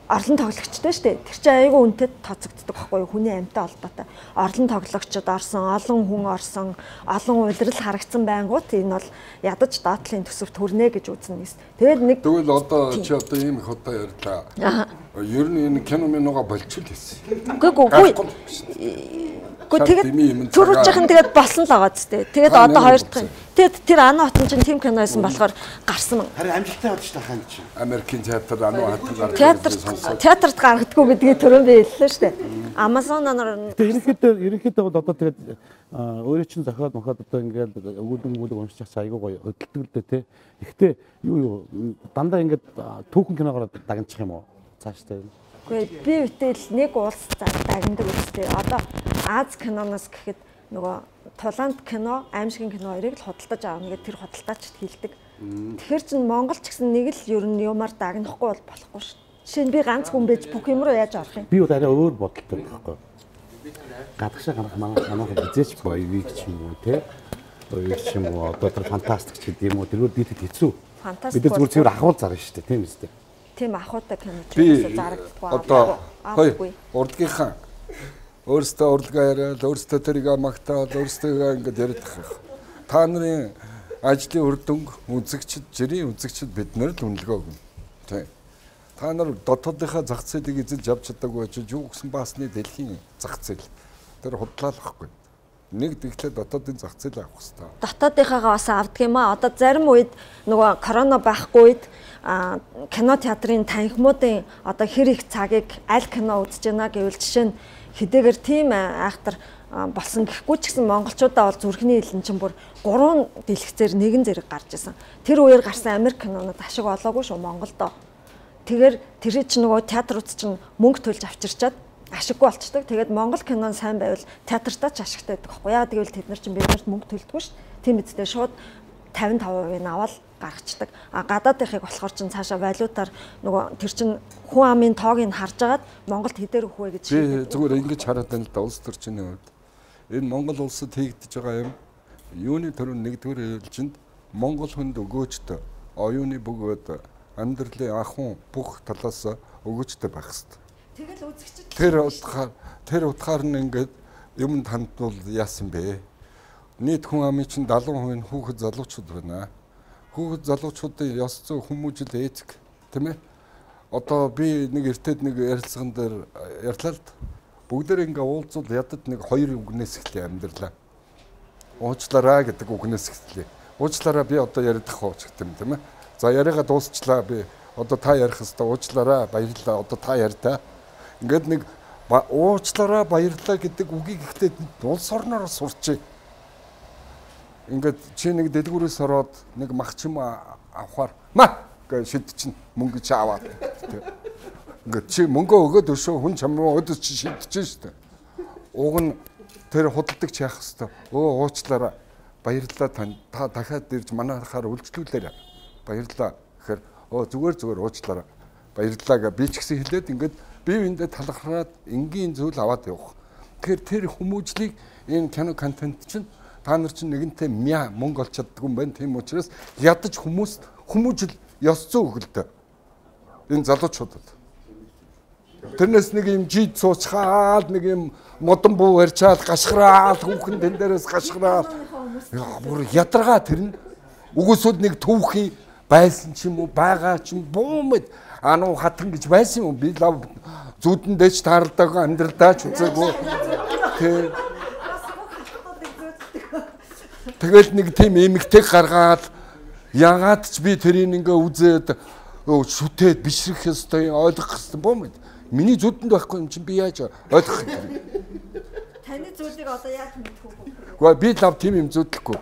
орлон тоглогчтой шүү дээ. Тэр чинь айгүй үнэтэй тооцогддог байхгүй юу? Хүний амьтаа холбоотой. Орлон тоглогчид орсон, олон хүн орсон, олон улирал харагдсан байнгут энэ бол ядаж доотлын төсөвт хүрнэ гэж үзнэ нэс. Тэгээд нэг тэгвэл одоо чи одоо ийм их удаа ярьлаа. Ер нь энэ кино минога болчихл хэлсэн. Үгүй үгүй. Тэгээд төрүүлжийнхэн тэгээд болсон л байгаа зү. Тэгээд одоо хоёр дахь. Тэгээд тэр Ано хотын чинь тим кино байсан болохоор гарсан. Харин амжилттай болж тахаа энэ чинь. Америкийн театр Ано хотын гардаг. Театрт театрт гаргадаггүй гэдгийг түрүүн би хэллээ шүү дээ. Амазоноор тэгээд ерөнхийдөө ерөнхийдөө бол одоо тэгээд өөрөө чинь зохиол мохоод одоо ингээд өгүүлэн өгүүлэг уншиж чаас айгүй гоё хөдөлдөг л дээ те. Гэхдээ юу юу дандаа ингээд түүхэн киногоор дагначих юм уу? Цааштай. Гэхдээ би үтэл нэг улс дагнадаг үстэй. Одоо Аз киноноос гэхэд нөгөө Тулаанд кино, аимшигын кино хоёрыг л худалдаж аавна гэдэг тэр худалдаачд хэлдэг. Тэгэхээр чин Монгол ч гэсэн нэг л ер нь юмар дагнахгүй бол болохгүй шүү. Жишээ нь би ганц хүн байж бүх юм руу яаж орох юм? Би бол арай өөр бодолтой байхгүй. Гадагшаа гарах манай манайх хизээч боёвыг ч юм уу те. Боёвыг ч юм уу одоо тэр фантастик ч гэдэг юм уу тэргээр бид хэцүү. Бид зүгээр зүгээр ахуул зарна шүү дээ тийм үстэй. Тийм ахуйтай кино ч зарагдахгүй. Одоо хой урдгийнхаа өөрсдөө урлагаа яриад, өөрсдөө тэрийг магтаал, өөрсдөө ингэж яриад байгаа. Та нарын ажлын үр дүнг үзэгчд, жирийн үзэгчд бид нар л үнэлгээ өгнө. Тэ. Та нар дотоодынхаа зах зээлийг эзэлж авч чадаагүй ч юу гэсэн баасны дэлхийн зах зээл. Тэр худлаалахгүй. Нэг дэглээ дотоодын зах зээл авах хэрэгтэй. Дотоодынхаагаа бас авдаг юм аа. Одоо зарим үед нөгөө корона байхгүй үед кино театрын танхимуудын одоо хэр их цагийг аль кино үзэж байна гэвэл жишээ нь хэдийгээр тийм айхтар болсон гэхгүй ч гэсэн монголчуудаа бол зүрхний хилэн чинь бүр гурван дэлгэцээр нэгэн зэрэг гарч исэн. Тэр үеэр гарсан Америк кинонууд ашиг олоогүй шүү Монголдо. Тэгэхээр тэр чинь нөгөө театрууд чинь мөнгө төлж авчирчаад ашиггүй болчдөг. Тэгээд монгол кино сайн байвал театртаа ч ашигтай байдаг байхгүй. Яагаад гэвэл тэд нар чинь биднэрт мөнгө төлдөггүй шүү. Тийм үстэй шууд тавин таван хувийг аваад гаргацдаг. А гадаадынхыг болохоор чинь цаашаа валютаар нөгөө тэр чинь хүн амын тоог нь харж агаад Монголд хэдээр өгөх вэ гэж шийддэг. Зүгээр ингэж хараад байна л да улс төрчний хувьд. Энэ Монгол улсад хийгдэж байгаа юм юуны төрөв нэгдүгээр ээлжинд Монгол хүнд өгөөжтэй оюуны бөгөөд амьдралын ахуйн бүх талаас өгөөжтэй байх хэрэгтэй. Тэгэл үзэгчд тэр утгаар тэр утгаар нь ингээд юм тандвал яасан бэ? Нийт хүн амын чинь дагалан хувийн хүүхэд залуучууд байна. Хүүхэд залуучуудын ёс зүй хүмүүжил эцэг тийм ээ. Одоо би нэг эртэд нэг ярилцсан дээр ярьлаа л д. Бүгдээр ингээ уулзвал ядад нэг хоёр үгнээс эхлэе амьдралаа. Уучлаарай гэдэг үгнээс эхлэе. Уучлаарай би одоо яриад ах уу гэдэг юм тийм ээ. За яриагаа дуусчлаа би одоо та ярих хэвээр уучлаарай баярлалаа одоо та ярьтаа. Ингээд нэг уучлаарай баярлалаа гэдэг үгийг ихтэй улс орноор сурчээ. Ингээд чи нэг дэлгүүрээс ороод нэг мах чим авахаар ма гэж шид чинь мөнгө чи аваад. Ингээд чи мөнгө өгөөд өшөө хүн чамруу өдөрч чи шидэж штэ. Уг нь тэр худалдагч яах хэвээр өө уучлаарай баярлалаа тань. Та дахиад ирж манайхаар үйлчлүүлээрэй. Баярлалаа гэхээр оо зүгээр зүгээр уучлаарай. Баярлалаа гэж би ч гэсэн хэлээд ингээд бие биендээ талархаад энгийн зүйл аваад явах. Тэгэхээр тэр хүмүүжлийг энэ кино контент чинь та нар чинь нэгэнтээ мяа мөнгө олж чаддаг юм байна. Тийм учраас ядаж хүмүүс хүмүүжил ёс зүй өгөлтэй. Энэ залуучуудад. Тэрнээс нэг юм жид суучхаад нэг юм модон буу барьчаал гашхраал хүүхэн тэн дээрээс гашхраал бүр ядаргаа тэр нь үгүйсүүд нэг түүхийн байсан ч юм уу байгаа ч юм буумд ануу хатан гэж байсан юм би лав зүудэн дэч тааралдаг амьдралдаа ч үзээгүй тэр тэгэл нэг тийм эмэгтэй гаргаад ягаад ч би тэрийг ингээ үзээд шүтээд бишрэх ёстой ойлгох ёстой буумд миний зүудэнд байхгүй юм чинь би яаж ойлгох юм таны зүйлийг одоо яаж мэдэх вэ? Гэхдээ би лав тийм юм зүудлэхгүй.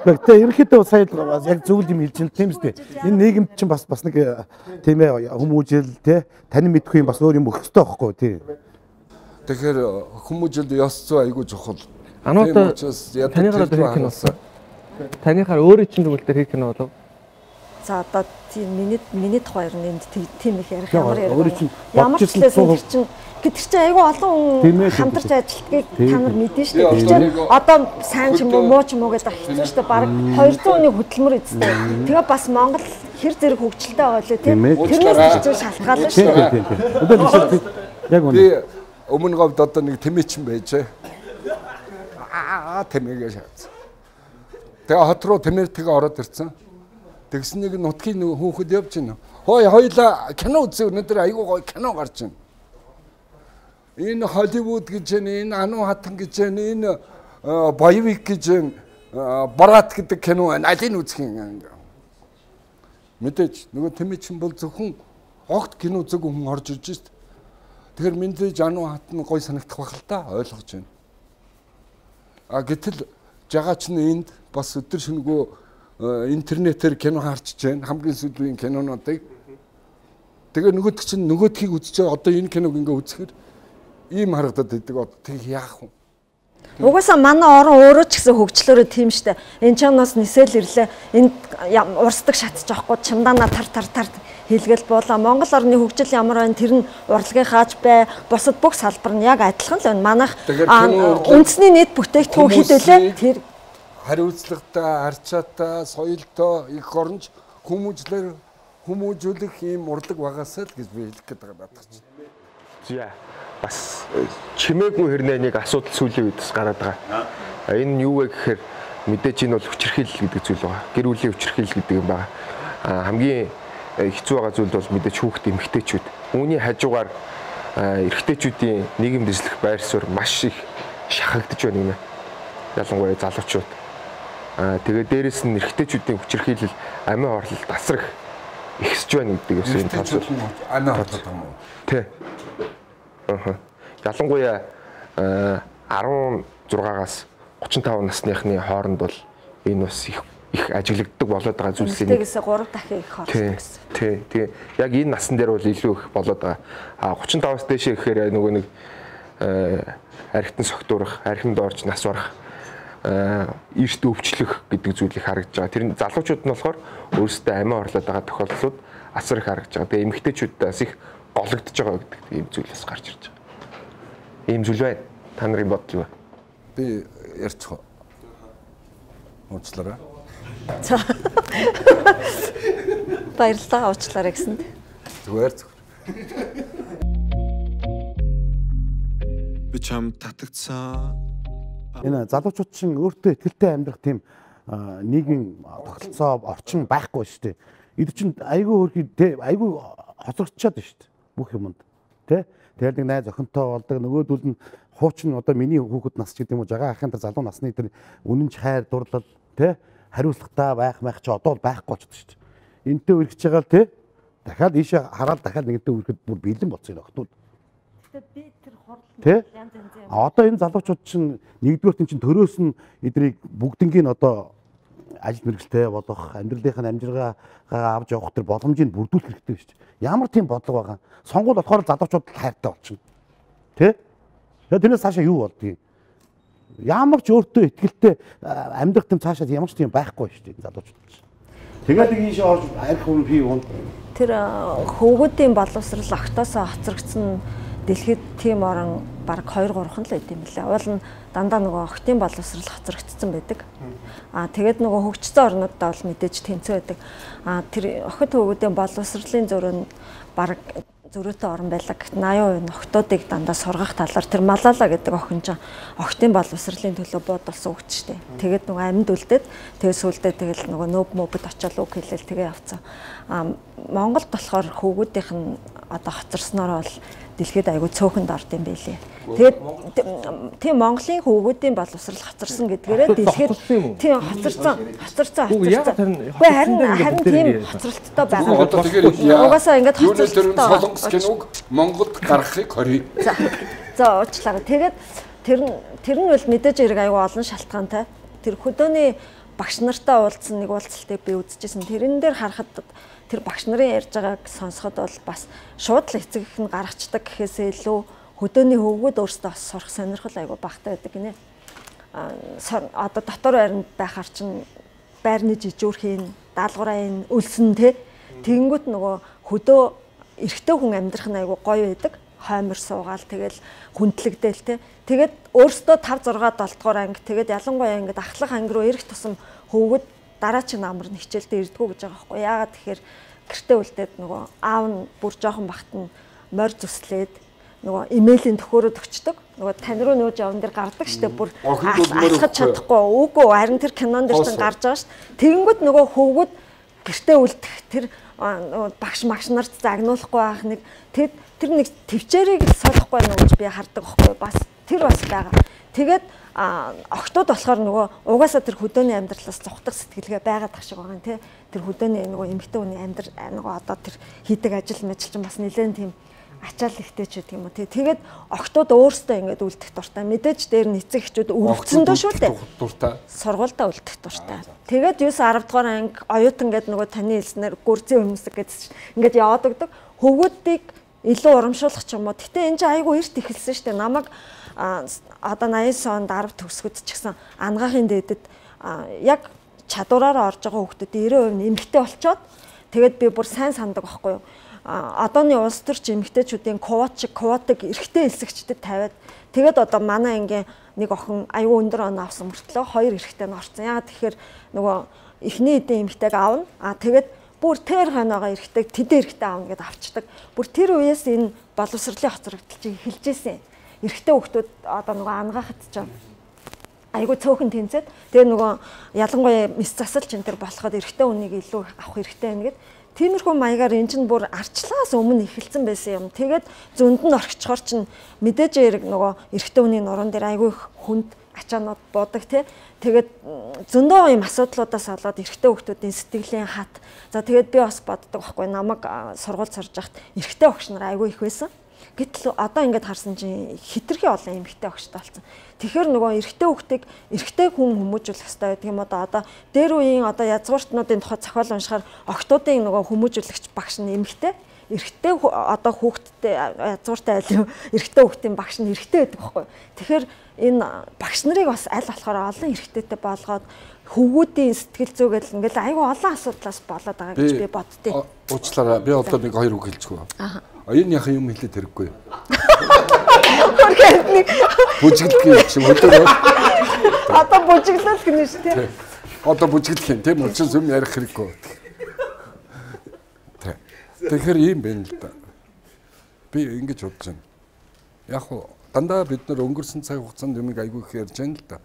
Гэхдээ ерөнхийдөө сая яг зөвл юм хэлж байна тийм үстэй. Энэ нийгэмд чинь бас бас нэг тийм ээ хүмүүжил те тань мэдхгүй юм бас өөр юм өгөх хэрэгтэй байхгүй тий. Тэгэхээр хүмүүжилд ёс зүй айгүй чухал. Анууд танийхаар одоо хийх киносон. Танийхаар өөрөө чинь тэгвэл тэр хийх кино болов. За одоо тийм миний миний тухай ер нь энд тийм их ярих ямар ярих. Ямар ч хэлсэн тэр чинь гэтэр чинь айгүй олон хүн хамтарч ажилтгийг та нар мэдэн шүү дээ. Тэр чинь одоо сайн ч юм уу муу ч юм уу гэдэг хэцүү шүү дээ. Бараг хоёр зуун хүний хөдөлмөр эзтэй. Тэгээ бас Монгол хэр зэрэг хөгжилтэй байгаа лээ тийм. Тэрнээс ч шалтгаална шүү дээ. Яг үнэ. Би өмнө говьд одоо нэг тэмээчин байжээ. Аа тэмээгээ шаац. Тэгээ хот руу тэмээртэйгээ ороод ирсэн. Тэгсэн нэг нутгийн хүүхэд явж байна. Хой хоёлаа кино үзээ өнөөдөр айгүй гоё кино гарч байна. Энэ Холливуд гэж байна, энэ Ану хатан гэж байна, энэ боевик гэж байна, Барат гэдэг кино байна. Алийг үзэх юм. Мэдээж нөгөө тэмээчин бол зөвхөн огт кино үзээгүй хүн орж ирж шít. Тэгэхээр мэдээж Ану хатан гоё санагдах байх л та ойлгож байна. А гэтэл жагаач нь энд бас өдөр шөнөгөө интернетээр кино харж байна. Хамгийн сүүлийн кинонуудыг. Тэгээ нөгөөд чинь нөгөөдхийг үзчихээ одоо энэ киног ингээ үзэхээр ийм харагдаад байдаг. Одоо тэг яах вэ? Угаасаа манай орон өөрөө ч гэсэн хөгжлөөрөө тийм штэ. Энэ чанаас нисэл ирлээ. Энд урсдаг шатж авахгүй чамдаана тар тар тар хэлгээл буулаа. Монгол орны хөгжил ямар байна тэр нь урлагийн хааж бай. Бусад бүх салбар нь яг адилхан л байна. Манайх үндэсний нийт бүтээгдэхүүн хэд вүлээ? Тэр хариуцлагатай, арчаатай, соёлтой их оронж хүмүүжлэр хүмүүжүүлэх ийм урлаг багасаа л гэж би хэлэх гээд байгаа надад чинь. За бас чимээгүй хэрнээ нэг асуудал сүүлийн үед бас гараад байгаа. Энэ нь юу вэ гэхээр мэдээж энэ бол хүчирхийлэл гэдэг зүйл байгаа. Гэр бүлийн хүчирхийлэл гэдэг юм байна. Хамгийн хэцүү байгаа зүйл бол мэдээж хүүхэд эмэгтэйчүүд. Үүний хажуугаар эрэгтэйчүүдийн нийгэм дэвшлэх байр суурь маш их шахагдж байна юм. Ялангуяа залуучууд. Аа тэгээ дээрэс нь эрэгтэйчүүдийн хүчирхийлэл амиа хорлол тасрах ихсэж байна гэдэг бас энэ тал. Амиа хорлол юм уу? Тий. Аа. Ялангуяа арван зургаагаас гурван таван насныхны хооронд бол энэ бас их их ажиглагддаг болоод байгаа зүйлс энэ. Тэгээс гурав дахин их хорлдог гэсэн. Тий. Тэгээ яг энэ насн дээр бол илүү их болоод байгаа. Аа гурван таваас дээшээ гэхээр нөгөө нэг архитан согтуурах, архинд орж нас барах эрт өвчлөх гэдэг зүйлийг харагдж байгаа. Тэр залуучууд нь болохоор өөрсдөө амиа орлоод байгаа тохиолдлууд асар их харагдж байгаа. Тэгээ эмэгтэйчүүдээс их гологдож байгаа гэдэг ийм зүйл бас гарч ирж байгаа. Ийм зүйл байна. Та нарын бодол юу вэ? Би ярьчих. Уучлаарай. За. Баярлалаа уучлаарай гэсэнд. Зүгээр зүгээр. Би чам татагцсан. Энэ залуучууд чинь өөртөө ихтэй амьдрах тийм нийгмийн тогтолцоо орчин байхгүй шүү дээ. Эд чинь айгүй хөрхий айгүй хоцрогдчиход шүү дээ. Бүх юмд тий. Тэгэхээр нэг найз охинтой болдог нөгөөдөл нь хуучин одоо миний хүүхэд нас ч гэдэг юм уу жагаа ахын тэр залуу насны тэр үнэнч хайр дурлал тий хариуцлагатай байх байх чи одоо байхгүй болчихсон шүү дээ. Энтэй үргэлж байгаа л тий. Дахиад ийшээ хараад дахиад нэгэнтэй үргэлж бүр бэлэн болцсон охтууд. Би тэр хорлол янз янз юм. Одоо энэ залуучууд чинь нэгдүгээр чинь төрөөс нь эдрийг бүгднгийн одоо ажил мэргэжтэй болох, амьдралынхаа амжиргаа авч явах тэр боломжийг бүрдүүлэх хэрэгтэй шүү дээ. Ямар тийм бодлого байгаа. Сонгуул болохоор залуучууд хайртай болчихно. Тэ? Тэгээд тэрнээс цаашаа юу болдгийг. Ямар ч өөртөө ихтэй амьдрах юм цаашаа ямар ч тийм байхгүй шүү дээ залуучууд. Тэгээд нэг ийш орж арх хүн пи уун. Тэр хөвгүүдийн боловсрал огтоосоо хоцрогдсон дэлхийд тийм орон бараг хоёр гурван л байт юм лээ. Уул нь дандаа нөгөө охтын боловсрал хоцрогдсон байдаг. Аа тэгээд нөгөө хөгжсөн орнуудаа бол мэдээж тэнцүү байдаг. Аа тэр охид хөвгүүдийн боловсролын зөрөөнд бараг зөрөөтэй орон байлаа. Гэтэл восемь хувь нь охтуудыг дандаа сургах талаар тэр Малала гэдэг охин ч охтын боловсролын төлөө буудалсан хөгч штэ. Тэгээд нөгөө амьд үлдээд тэгээд сүулдэ тэгэл нөгөө нөөб мөбөд очиод үг хэлэл тэгээ явцсан. Аа Монголд болохоор хөвгүүдийнх нь одоо хоцорсноор бол дэлхийд аягүй цөөхөнд орд юм байлээ. Тэгээд тийм Монголын хөвгүүдийн боловсрал хоцорсон гэдгээрээ дэлхийд тийм хоцорсон хоцорсон хоцорсон. Гэхдээ харин харин тийм хоцролттой байгаа. Одоо тэгэхээр угаасаа ингэж хоцролттой солонгос киног Монголд гаргахыг хорий. За. За уучлаарай. Тэгээд тэр нь тэр нь бол мэдээж хэрэг аягүй олон шалтгаантай. Тэр хөдөөний багш нартай уулзсан нэг уулзалтыг би үзчихсэн. Тэрэн дээр харахад тэр багш нарын ярьж байгааг сонсоход бол бас шууд л эцэг их нь гаргацдаг гэхээсээ илүү хөдөөний хөвгүүд өөрсдөө бас сурах сонирхол айгүй багтаа байдаг гинэ. А одоо дотор байранд байхаар чинь байрны жижүүрхийн даалгаврын өлсөн те тэгэнгүүт нөгөө хөдөө эрэгтэй хүн амьдрах нь айгүй гоё байдаг. Хоймор суугаал тэгэл хүндлэгдээл те. Тэгээд өөрсдөө five six seven дугаар анги тэгээд ялангуяа ингээд ахлах анги руу ирэх тусам хөвгүүд дараагийн намар нь хичээлдээ ирдгүү гэж байгаа байхгүй. Яагаад тэгэхээр гэртээ үлдээд нөгөө аав нь бүр жоохон бахт нь морь зүслээд нөгөө имэйлийн төхөөрөд өчтдөг. Нөгөө тань руу нөөж явсан дэр гардаг штеп бүр алхаж чадахгүй. Үгүй харин тэр кинон дээр чинь гарч байгаа штеп. Тэгэнгүүт нөгөө хөвгүүд гэртээ үлдэх тэр багш магш нарт загнуулахгүй байх нэг тэр тэр нэг төвчээрийг солихгүй нэ гэж би хардаг байхгүй. Бас тэр бас байгаа. Тэгээд охтууд болохоор нөгөө угаасаа тэр хөдөөний амьдралаас зугтах сэтгэлгээ байгаад тах шиг байгаа юм тий. Тэр хөдөөний нөгөө эмэгтэй хүний амьдрал нөгөө одоо тэр хийдэг ажил мэл чинь бас нэлээд тийм ачаал ихтэй ч гэдэг юм уу тий. Тэгээд охтууд өөрсдөө ингээд үлдэх дуртай. Мэдээж дээр нь эцэг эхчүүд өвгцөндөө шүү дээ. Дуртай. Сургуультай үлдэх дуртай. Тэгээд юу ten дугаар анги оюутан гэдэг нөгөө таны хэлснээр гүрзийн өмсөг гэж ингээд яваад өгдөг. Хөвгүүдийг илүү урамшуулах ч юм уу. Гэтэ энэ чинь айгүй эрт эхэлсэн шүү дээ. Намайг одоо ninety онд арав төгсгөд ч гэсэн ангаахын дээдэд яг чадвараараа орж байгаа хүүхдүүд ninety percent нь эмэгтэй болчоод тэгээд би бүр сайн сандаг байхгүй юу. Одооны улс төрч эмэгтэйчүүдийн квот шиг квотыг эрэгтэй элсэгчдэд тавиад тэгээд одоо манай ангийн нэг охин аюу өндөр он авсан мөртлөө хоёр эрэгтэй нь орсон. Яагаад тэгэхээр нөгөө эхний эдийн эмэгтэйг аавна. А тэгээд бүр тэр хойноогоо эрэгтэйг тэдэн эрэгтэй аавна гэдээ авчдаг. Бүр тэр үеэс энэ боловсролын хоцрогдол чинь эхэлж ирсэн. Эрэгтэй хүүхдүүд одоо нөгөө ангаахад ч айгүй цөөхөн тэнцээд тэгээ нөгөө ялангуяа мэс засал ч энэ төр болоход эрэгтэй хүнийг илүү авах хэрэгтэй байна гэд тиймэрхүү маягаар эн чинь бүр арчлаас өмнө эхэлсэн байсан юм. Тэгээд зөнд нь орчихоор чинь мэдээж эрэг нөгөө эрэгтэй хүний нуруунд дээр айгүй хүнд ачаанууд буудаг тий. Тэгээд зөндөө юм асуудлуудаас болоод эрэгтэй хүүхдүүдийн сэтгэлийн хат. За тэгээд би бас боддог байхгүй намайг сургууль сурж байхад эрэгтэй багш нар айгүй их байсан. Гэтэл одоо ингээд харсан чинь хитрхи олон эмэгтэй багштай болсон. Тэгэхээр нөгөө эрэгтэй хүүхдийг эрэгтэй хүн хүмүүжүүлэх хэрэгтэй гэдэг юм одоо одоо дээр үеийн одоо язгууртнуудын тухай зохиол уншихаар охтуудын нөгөө хүмүүжүүлэгч багш нь эмэгтэй, эрэгтэй одоо хүүхдтэй язгууртай айл эрэгтэй хүүхдийн багш нь эрэгтэй байдаг байхгүй. Тэгэхээр энэ багш нарыг бас аль болохоор олон эрэгтэйтэй болгоод хөвгүүдийн сэтгэл зүгэл ингээл айгүй олон асуудлаас болоод байгаа гэж би боддتي. Уучлаарай. Би одоо нэг хоёр үг хэлчихв. Аа. Энэ яхаа юм хэлээд хэрэггүй. Бүжиглэх юм өдөр. Одоо бүжиглэх гэнэ шүү дээ. Одоо бүжиглэх юм тийм учраас юм ярих хэрэггүй. Тэгэхээр ийм байна л да. Би ингэж бодож байна. Яг уу дандаа бид нар өнгөрсөн цаг хугацаанд юм айгүй их ярьж байна л да.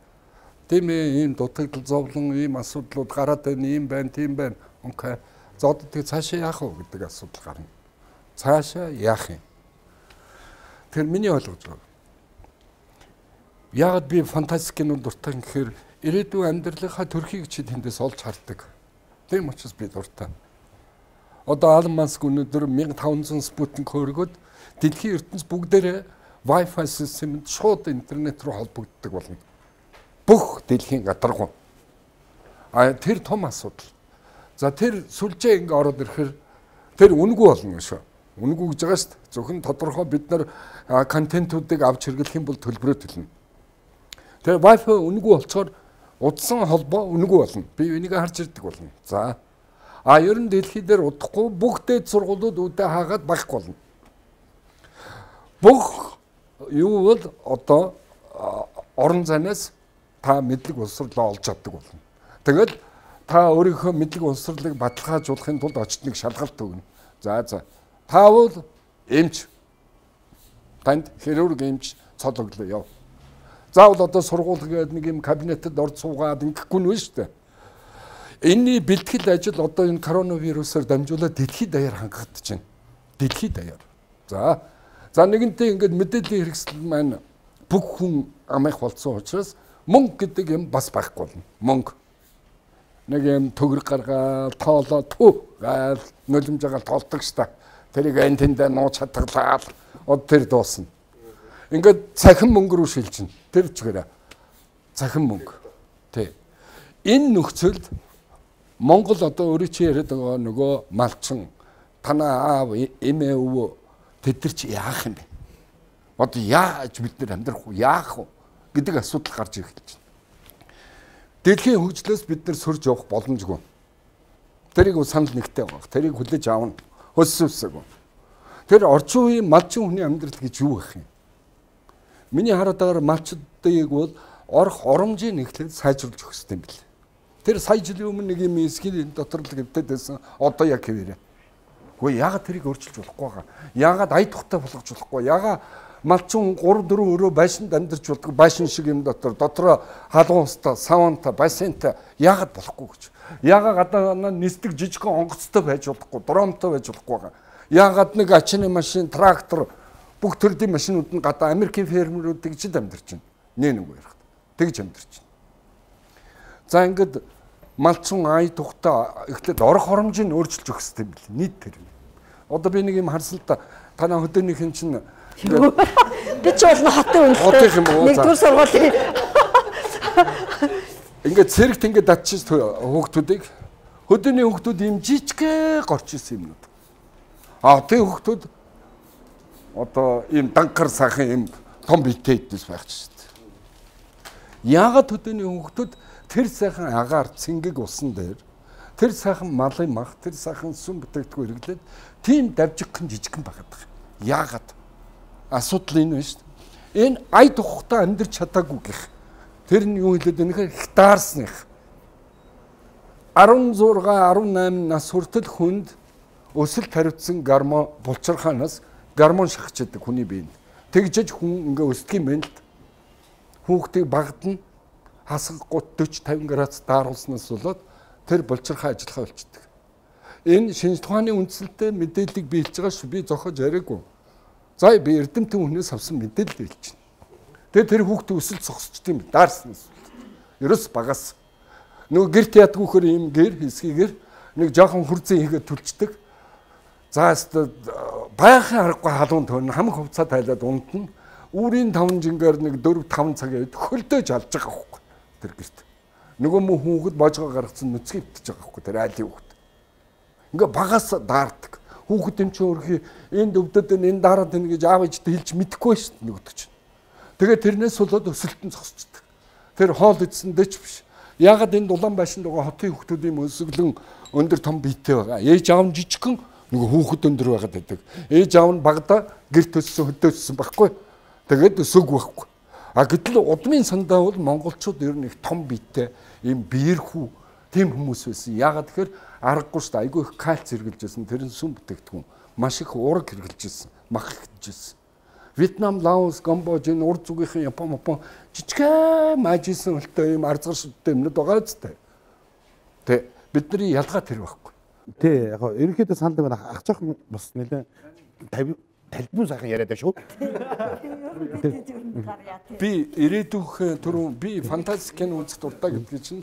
Тийм ээ ийм дутагдал зовлон ийм асуудлууд гараад байна, ийм байна, тийм байна. Окей. За одоо тэг цаашаа яах вэ гэдэг асуудал гарна. Цаашаа яах юм? Тэр миний ойлгож байгаа. Яг би фантастик кинонд дуртай гэхээр ирээдүйн амьдралынхаа төрхийг чи тэндээс олж хардаг. Тийм учраас би дуртай. Одоо Алан Маск өнөөдөр fifteen hundred Sputnik хөргөд дэлхийн ертөнц бүгдээрээ Wi-Fi системд шууд интернет руу холбогддог болно. Бүх дэлхийн гадаргуу. А тэр том асуудал. За тэр сүлжээ ингээ ороод ирэхээр тэр үнэгүй болно шүү. Үнэгүй гэж байгаа шүү дээ. Зөвхөн тодорхой бид нар контентуудыг авч хэрэглэх юм бол төлбөрөө төлнө. Тэгээ Wi-Fi үнэгүй болцохоор удсан холбоо үнэгүй болно. Би энийг харж ирдэг болно. За. А ер нь дэлхий дээр удахгүй бүх дэд сургуулиуд үүдээ хаагаад байхгүй болно. Бүх юу бол одоо орон зайнаас та мэдлэг боловсролоо олж авдаг болно. Тэгэл та өөрийнхөө мэдлэг боловсролыг баталгаажуулахын тулд очид нэг шалгалт өгнө. За за. Та бол эмч. Танд хирург эмч цологлоо яв. Заавал одоо сургууль гээд нэг юм кабинетад орж суугаад ингэхгүй нь шүү дээ. Энэний бэлтгэл ажил одоо энэ коронавирусаар дамжуулаад дэлхийд даяар хангагдаж байна. Дэлхийд даяар. За. За нэгэнтээ ингээд мэдээллийн хэрэгсэл маань бүх хүн амих болсон учраас мөнгө гэдэг юм бас байхгүй болно. Мөнгө. Нэг юм төгрөг гаргаад тоолоо түү гаал нулимж байгаа тоолдог ш та. Тэрийг эн тэндээ нууц хатгалаад од тэр дуусна. Ингээд цахим мөнгө рүү шилжинэ. Тэр чигээрээ. Цахим мөнгө. Тэ. Энэ нөхцөлд Монгол одоо өөрөө чи яриад байгаа нөгөө малчин танаа аав эмээ өвөө тэд нар чи яах юм бэ? Одоо яаж бид нар амьдрах вэ? Яах вэ гэдэг асуудал гарч ирэх гэж байна. Дэлхийн хөгжлөөс бид нар сөрж явах боломжгүй. Тэрийг санал нэгтэй байгаа. Тэрийг хүлээж аавна. Хөссөвсөг. Тэр орчин үеийн малчин хүний амьдрал гэж юу байх юм? Миний хараад байгаа малчдыг бол орох оромжийг нэхлээд сайжруулж өгөх хэрэгтэй юм билээ. Тэр сая жилийн өмнө нэг юм эсгийн дотор л гэвтэд байсан. Одоо яг хэвээрээ. Хөөе яагаад тэрийг өөрчилж болохгүй байгаа? Яагаад ая тухтай болгож болохгүй? Яагаад малчин гурав дөрвөн өрөө байшинд амьдарч болдог байшин шиг юм дотор дотроо халуун устай, савантай, бассейнтай яагаад болохгүй гэж? Яагаад гадаа нисдэг жижигхэн онгоцтой байж болохгүй, дромтой байж болохгүй байгаа? Яагаад нэг ачааны машин, трактор бүх төрлийн машинууд нь гадаа Америкийн фермерүүд тэгж амьдарч байна. Нэ нэг ярих. Тэгж амьдарч байна. За ингээд малчин ая тухтай эхлээд орох оромжийг өөрчилж өгөх хэрэгтэй юм бэл нийт тэр. Одоо би нэг юм харсан л да танаа хөдөөнийхэн чинь би ч болно хотын үнэлтэй. Нэгдүгээр сургуулийн ингээд цэрэгт ингээд датчих хүүхдүүдийг хөдөөний хүүхдүүд юм жижиг горч исэн юмнууд. А тэр хүүхдүүд одоо ийм данкар сайхан юм том битэйдээс байх ч шүү дээ. Яагаад хөдөөний хүүхдүүд тэр сайхан агаар цэнгэг усан дээр тэр сайхан малын мах тэр сайхан сүм бүтээгдэхүүн хэрэглээд тийм давжигхан жижигхан байгаад байгаа. Яагаад? Асуудал энэ байна шүү дээ. Энэ ая тухтай амьдарч чадаагүй гэх. Тэр нь юу хэлээд байна гэхээр хектарсных. арван зураг арван найман нас хүртэл хүнд өсөлт хариуцсан гормон булчирхаанаас гормон шахчихдаг хүний биед. Тэгжиж хүн ингээ өсдөг юм байна л. Хүүхдийг багтна хасаг гут дөрвөн тавин градус дааруулснаас болоод тэр булчирхай ажиллахаа болчихдог. Энэ шинж тухааны үндсэлтэй мэдээллийг биелж байгаа шүү. Би зохиож яриаггүй. За би эрдэмтэн хүнээс авсан мэдээлэл биелж байна. Тэгээ тэр хүүхдээ өсөл зогсчт юм даарснаас. Ерөөс багаас. Нөгөө гэрт ядгүйхэр юм гэр хэсгийгэр нэг жоохон хурцэн хийгээд түлчдэг. За байхын аргагүй халуун төн хамаг хувцас тайлаад унтна. Үүрийн таван жингээр нэг дөрв таван цаг яваад хөлдөөж алж байгаа байхгүй тэр гэрт. Нөгөө мөн хүүхэд божгоо гаргацсан нүцгий битэж байгаа байхгүй тэр айлын хүүхэд. Ингээ багаас даардаг. Хүүхэд юм чи өөрхий энд өвдөд энэ дараад энэ гэж аав ээжтэй хэлж мэдэхгүй шүү дээ нөгөөдөг чинь. Тэгээ тэрнээс болоод өсөлтөн зогсчихдаг. Тэр хоол идсэндээ ч биш. Ягаад энэ дулаан байшинд байгаа хотын хүүхдүүдийн өсөглөн өндөр том биетэй байгаа. Ээж аав нь жижигхэн нөгөө хүүхэд өндөр байгаад байдаг. Ээж аав нь багада гэрт өссөн хөдөөссөн байхгүй. Тэгээд өсөг байхгүй. А гэтэл удмын сандаа бол монголчууд ер нь их том биетэй ийм биерхүү тийм хүмүүс байсан. Ягаад тэгэхээр аргагүй шүү дээ. Айгүй их кальц хэрглэжсэн. Тэр нь сүм бүтээгдэхүүн. Маш их ураг хэрглэжсэн. Мах хэрэгжсэн. Вьетнам, Лаос, Камбож, энэ урд зүгийнхээ Япон, Япон жижигхэн мажисэн хөлтэй ийм арзгар шүдтэй юмнууд байгаа зү. Тэ бидний ялгаа тэр байхгүй. Тэ яг ерөнхийдөө санал нэг ах жоохон бас нэлээ талбун сайхан яриад байна шүү. Би ирээдүйн түрүү би фантастик кино үзэх дуртай гэдгийг чинь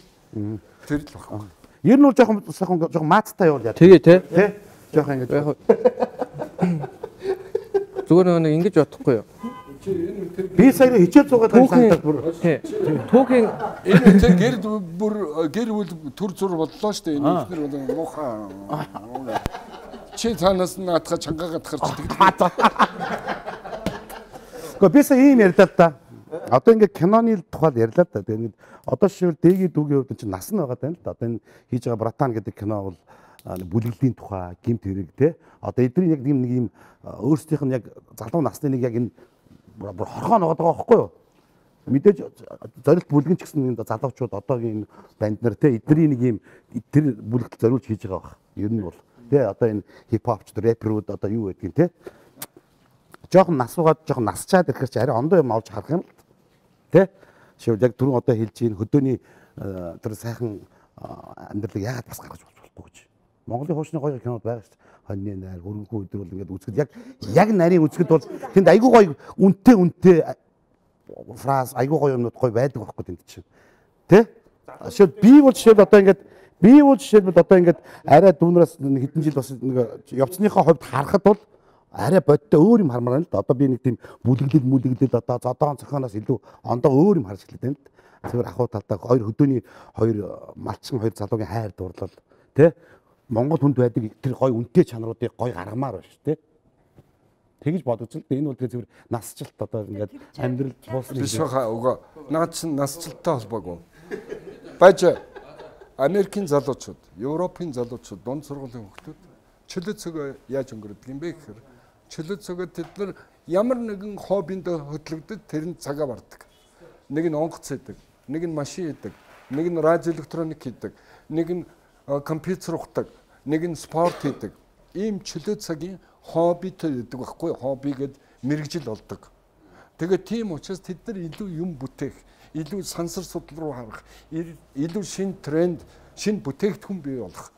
тэр л байхгүй. Ер нь жоохон сайхан жоохон маацтай явуул яа. Тэгээ тий. Тэ жоохон ингэж яг зүгээр нэг ингэж бодохгүй юу? Би сая хичээл зугаад байгаа санагдаад бүр тий. Түүхийн энэ тэр гэр бүр гэр бүл төр зур боллоо шүү дээ. Энэ ихнэр бол муухай. Чи цаанаас наатха чангаагаад гарч идэг. Гэхдээ би сая ийм ярьдаа та. Одоо ингээд киноны тухайд ярьлаа л да. Тэгээд одоо жишээл дэгийн дүүгийн хувьд чинь нас нь байгаа тань л да. Одоо энэ хийж байгаа Братан гэдэг кино бол бүлэглэлийн тухай, гэмт хэрэг те. Одоо эдний яг нэг юм өөрсдийнх нь яг залуу насны нэг яг энэ бүр хорхоо ногоод байгаа байхгүй юу? Мэдээж зорилт бүлгэн ч гэсэн энэ залуучууд одоогийн банд нар те эдний нэг юм тэр бүлэгт зориулж хийж байгаа баг. Ер нь бол те одоо энэ хипхопч рэперүүд одоо юу гэдгийг те. Жохон насуугаад жохон насчаад ирэхээр чи арай ондоо юм авч харах юм л тэ шив яг түрүүн одоо хэлж ийн хөдөөний тэр сайхан амьдралыг яагаад бас гаргаж болохгүй гэж. Монголын хуучны гоё кинод байгаа шүү дээ. Хоньны найр, хөрөнгөө өдөр бол ингээд үзэхэд яг яг нарийн үзэхэд бол тэнд айгүй гоё үнтэй үнтэй фраз айгүй гоё юмнууд гоё байдаг байхгүй тэнд чинь. Тэ? Шив би бол жишээл одоо ингээд би бол жишээл одоо ингээд арай дүүнээс хэдэн жил бас нэг явцныхаа хувьд харахад бол арай бодтой өөр юм хармаар байна л да. Одоо би нэг тийм бүлэглэл мүлэглэл одоо зодоон цохоноос илүү ондоо өөр юм харж эхэлдэг юм л да. Зүгээр ахуй талдаа хоёр хөдөөний хоёр малчин хоёр залуугийн хайр дурлал тий Монгол хүнд байдаг тэр гоё үнэтэй чанаруудыг гоё гаргамаар байна шүү тий. Тэгэж бодож л энэ бол тэр зүгээр насжилт одоо ингээд амьдрал туусна биш хаа уга наад чинь насжилттай холбоогүй. Баж Америкийн залуучууд, Европын залуучууд, дунд сургуулийн хүүхдүүд чөлөө цогоо яаж өнгөрдөг юм бэ гэхээр чөлөө цогоо тэд нар ямар нэгэн хоббинд хөтлөгдөд тэр нь цагаа бардаг. Нэг нь онгоц хийдэг, нэг нь машин хийдэг, нэг нь радио электроник хийдэг, нэг нь компьютер ухдаг, нэг нь спорт хийдэг. Ийм чөлөө цагийн хоббитэй гэдэг байхгүй хобби гэд мэрэгжил олдог. Тэгээд тийм учраас тэд нар илүү юм бүтээх, илүү сансар судал руу харах, илүү шин тренд, шин бүтээгдэхүүн бий болох.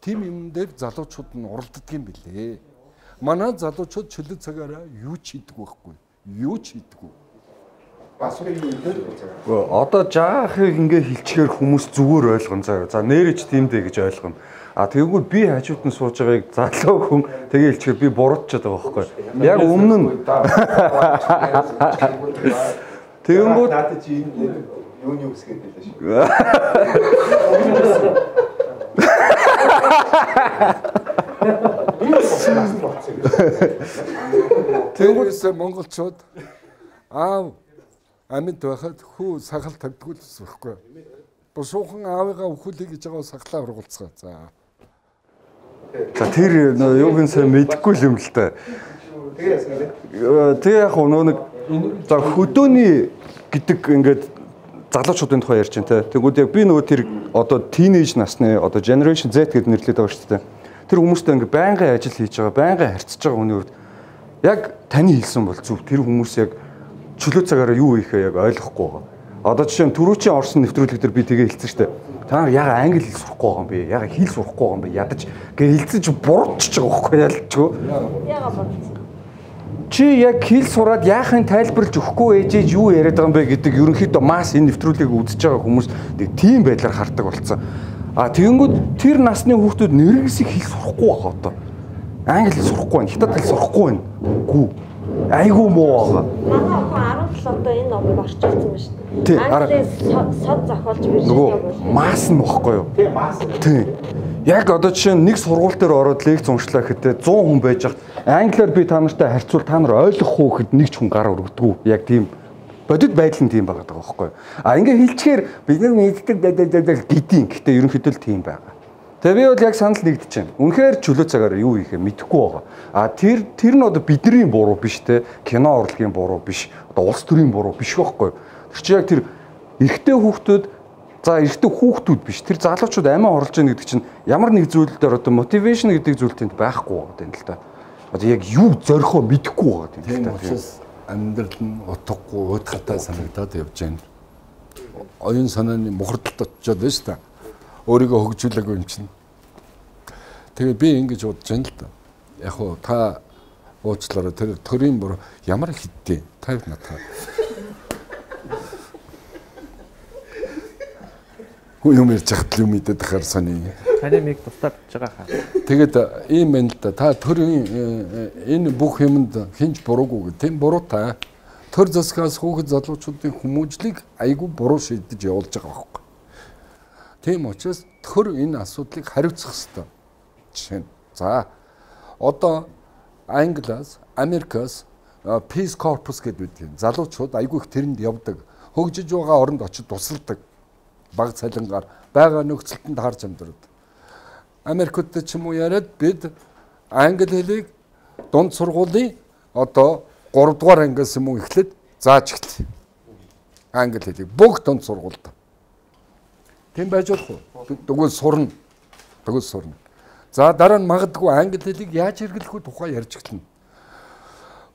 Тим юм дээр залуучууд нь оролддог юм билээ. Манай залуучууд чөлөө цагаараа юу ч хийдэг байхгүй. Юу ч хийдэггүй. Бас нэг юм дээр. Одоо жаахыг ингээ хилчгээр хүмүүс зүгээр ойлгон заяа. За нэрэж тийм дээ гэж ойлгоно. А тэгэнгүүт би хажууд нь сууж байгааг залуу хүн тэгээ хилчгээр би буруудчаад байгаа байхгүй. Яг өмнө нь тэгэнгүүт надад чи энэ юуны үсгээд байлаа шүү. Тэрээс монголчууд аав амьд байхад хүү сахал тавьдгүй л байхгүй. Бушуухан аавыгаа өхүүлээ гэж байгаа сахлаа ургуулцгаа. За. За тэр юуг нь сайн мэдэхгүй юм л та. Тэгээ яг нөө нэг за хөдөөний гэдэг ингээд залуучуудын тухай ярьж байна те. Тэгвэл яг би нөгөө тэр одоо teenage насны одоо generation Z гэдэг нэрлэдэг байгаа шүү дээ. Тэр хүмүүстэй ингээд байнгын ажил хийж байгаа, байнгын харьцаж байгаа хүний үед яг таны хэлсэн бол зөв. Тэр хүмүүс яг чөлөө цагаараа юу хийхээ яг ойлгохгүй байгаа. Одоо жишээ нь түрүүчийн орсон нэвтрүүлэг дээр би тэгээ хэлсэн шүү дээ. Та нар яга англи хэл сурахгүй байгаа юм бэ? Яга хэл сурахгүй байгаа юм бэ? Ядаж гээ хэлсэн чи буруудчих байгаа байхгүй ялчгүй. Яга буруудсан. Чи яг хэл сураад яахын тайлбарлаж өгөхгүй ээжээж юу яриад байгаа юм бэ гэдэг ерөнхийдөө мас энэ нэвтрүүлгийг үзэж байгаа хүмүүс нэг тийм байдлаар хардаг болсон. А тэгэнгүүт тэр насны хүүхдүүд нэрнгэсийг хэл сурахгүй байгаа одоо. Англи хэл сурахгүй байна, хятад хэл сурахгүй байна. Гүү. Айгуу муу байгаа. Манай охин арав одоо энэ номыг орчуулсан байна шүү дээ. Англиас сод зохиолж бирж байгаа. Мас нь бохгүй юу? Тийм, мас. Тийм. Яг одоо жишээ нь нэг сургууль дээр ороод лекц уншлаа гэхдээ зуун хүн байж хат англиар би та нартай харьцуул та нар ойлгох уу гэхэд нэг ч хүн гар өргөдгөө. Яг тийм бодит байдал нь тийм байгаа даа байхгүй юу? А ингээ хэлчихээр бид нар мэддэг гэдیں۔ Гэхдээ ерөнхийдөө л тийм байгаа. Тэгээ би бол яг санал нэгдэж байна. Үнэхээр чөлөө цагаараа юу хийхээ мэдэхгүй байгаа. А тэр тэр нь одоо бидний буруу биш те. Кино урлагийн буруу биш. Одоо улс төрийн буруу биш байхгүй юу? Тэр чинь яг тэр эрэгтэй хүүхдүүд за эрэгтэй хүүхдүүд биш. Тэр залуучууд амиа орлож байгаа гэдэг чинь ямар нэг зүйл дээр одоо мотивашн гэдэг зүйл тэнд байхгүй байгаа юм л та. Одоо яг юу зорихоо мэдэхгүй байгаа юм л та. Тийм амьдрал нь утгагүй уйтгатай санагдаад явж байна. Оюун санааны мухардалд очиод байна шүү дээ. Өөрийгөө хөгжүүлээгүй юм чинь. Тэгээ би ингэж бодож байна л да. Яг уу та уучлаарай тэр төрийн бүр ямар хиттэй тавь надаа. Хүү юм ярьж хат юм мэдээд тахаар сони. Таны миг тусдаад байгаа хаа. Тэгээд ийм байна л да. Та төрийн энэ бүх юмд хинж буруугүй гэх тийм буруу та. Төр засгаас хүүхэд залуучуудын хүмүүжлийг айгүй буруу шийдэж явуулж байгаа байхгүй. Тийм учраас төр энэ асуудлыг хариуцах ёстой. Жишээ нь за одоо Англиас, Америкаас Peace Corps гэдэг үгтэй. Залуучууд айгүй их тэрэнд явдаг. Хөгжиж байгаа оронд очиж тусалдаг. Баг цалингаар байгаа нөхцөлтөнд харж амьдраад. Америкт ч юм уу яриад бид англи хэлийг дунд сургуулийн одоо гурав дугаар ангиас юм уу эхлээд зааж эхэллээ. Англи хэлийг бүх дунд сургуульд. Тийм байж болох уу? Тэгвэл сурна. Тэгвэл сурна. За дараа нь магадгүй англи хэлийг яаж хэрэглэх вэ тухай ярьж эхэлнэ.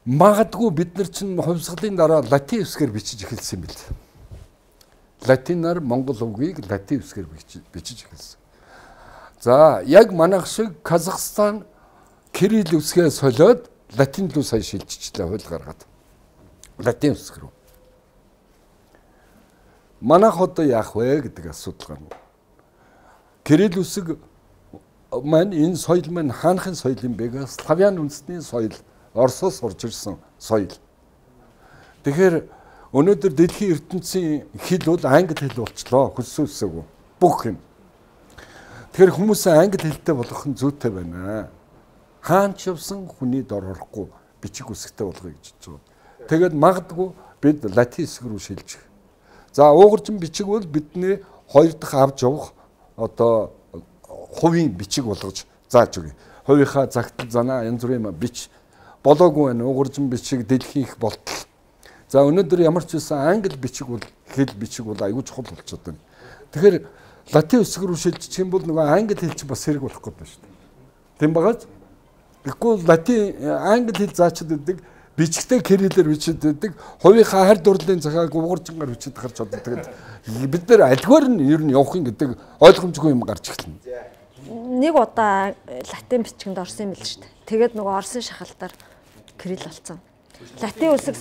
Магадгүй бид нар чинь хувьсгалын дараа латин үсгээр бичиж эхэлсэн юм бэл. Латинаар монгол үгийг латин үсгээр бичиж эхэлсэн. За яг манайх шиг Казахстан кирилл үсгээ солиод латин руу сая шилжчихлээ хууль гаргаад. Латин үсг рүү. Манайх одоо яах вэ гэдэг асуудал гарна. Кирилл үсэг маань энэ соёл маань хаанхын соёл юм бэ? Славян үндэстний соёл. Оросоос орж ирсэн соёл. Тэгэхээр өнөөдөр дэлхийн ертөнцийн хэл бол англи хэл болчлоо. Хүссэн үсээгүй. Бүх юм. Тэгэхээр хүмүүсээ англи хэлтэй болгох нь зүйтэй байна. Хаан ч явсан хүний дор орохгүй бичиг үсгтэй болгоё гэж байна. Тэгээд магадгүй бид латин үсэг рүү шилжих. За уугарчин бичиг бол бидний хоёр дахь авч явах одоо хувийн бичиг болгож зааж өгье. Хувийнхаа загтал занаа янз бүрийн бич болоогүй байна. Уугарчин бичиг дэлхийн их болтол. За өнөөдөр ямар ч байсан англи бичиг бол хэл бичиг бол аюул чухал болчиход байна. Тэгэхээр латин үсэг рүү шилжчих юм бол нөгөө англи хэл чинь бас хэрэг болох гэдэг шүү дээ. Тийм багаж? Тэгэхгүй латин англи хэл заачид байдаг, бичгтэй кириллээр бичиж байдаг, хувийнхаа хард дурлалын цагааг уугарчингаар бичиж харж одоо тэгээд бид нар альгаар нь ер нь явах юм гэдэг ойлгомжгүй юм гарч эхэлнэ. Нэг удаа латин бичгэнд орсон юм л шүү дээ. Тэгээд нөгөө орсын шахалтаар кирилл болсон. Латин үсэг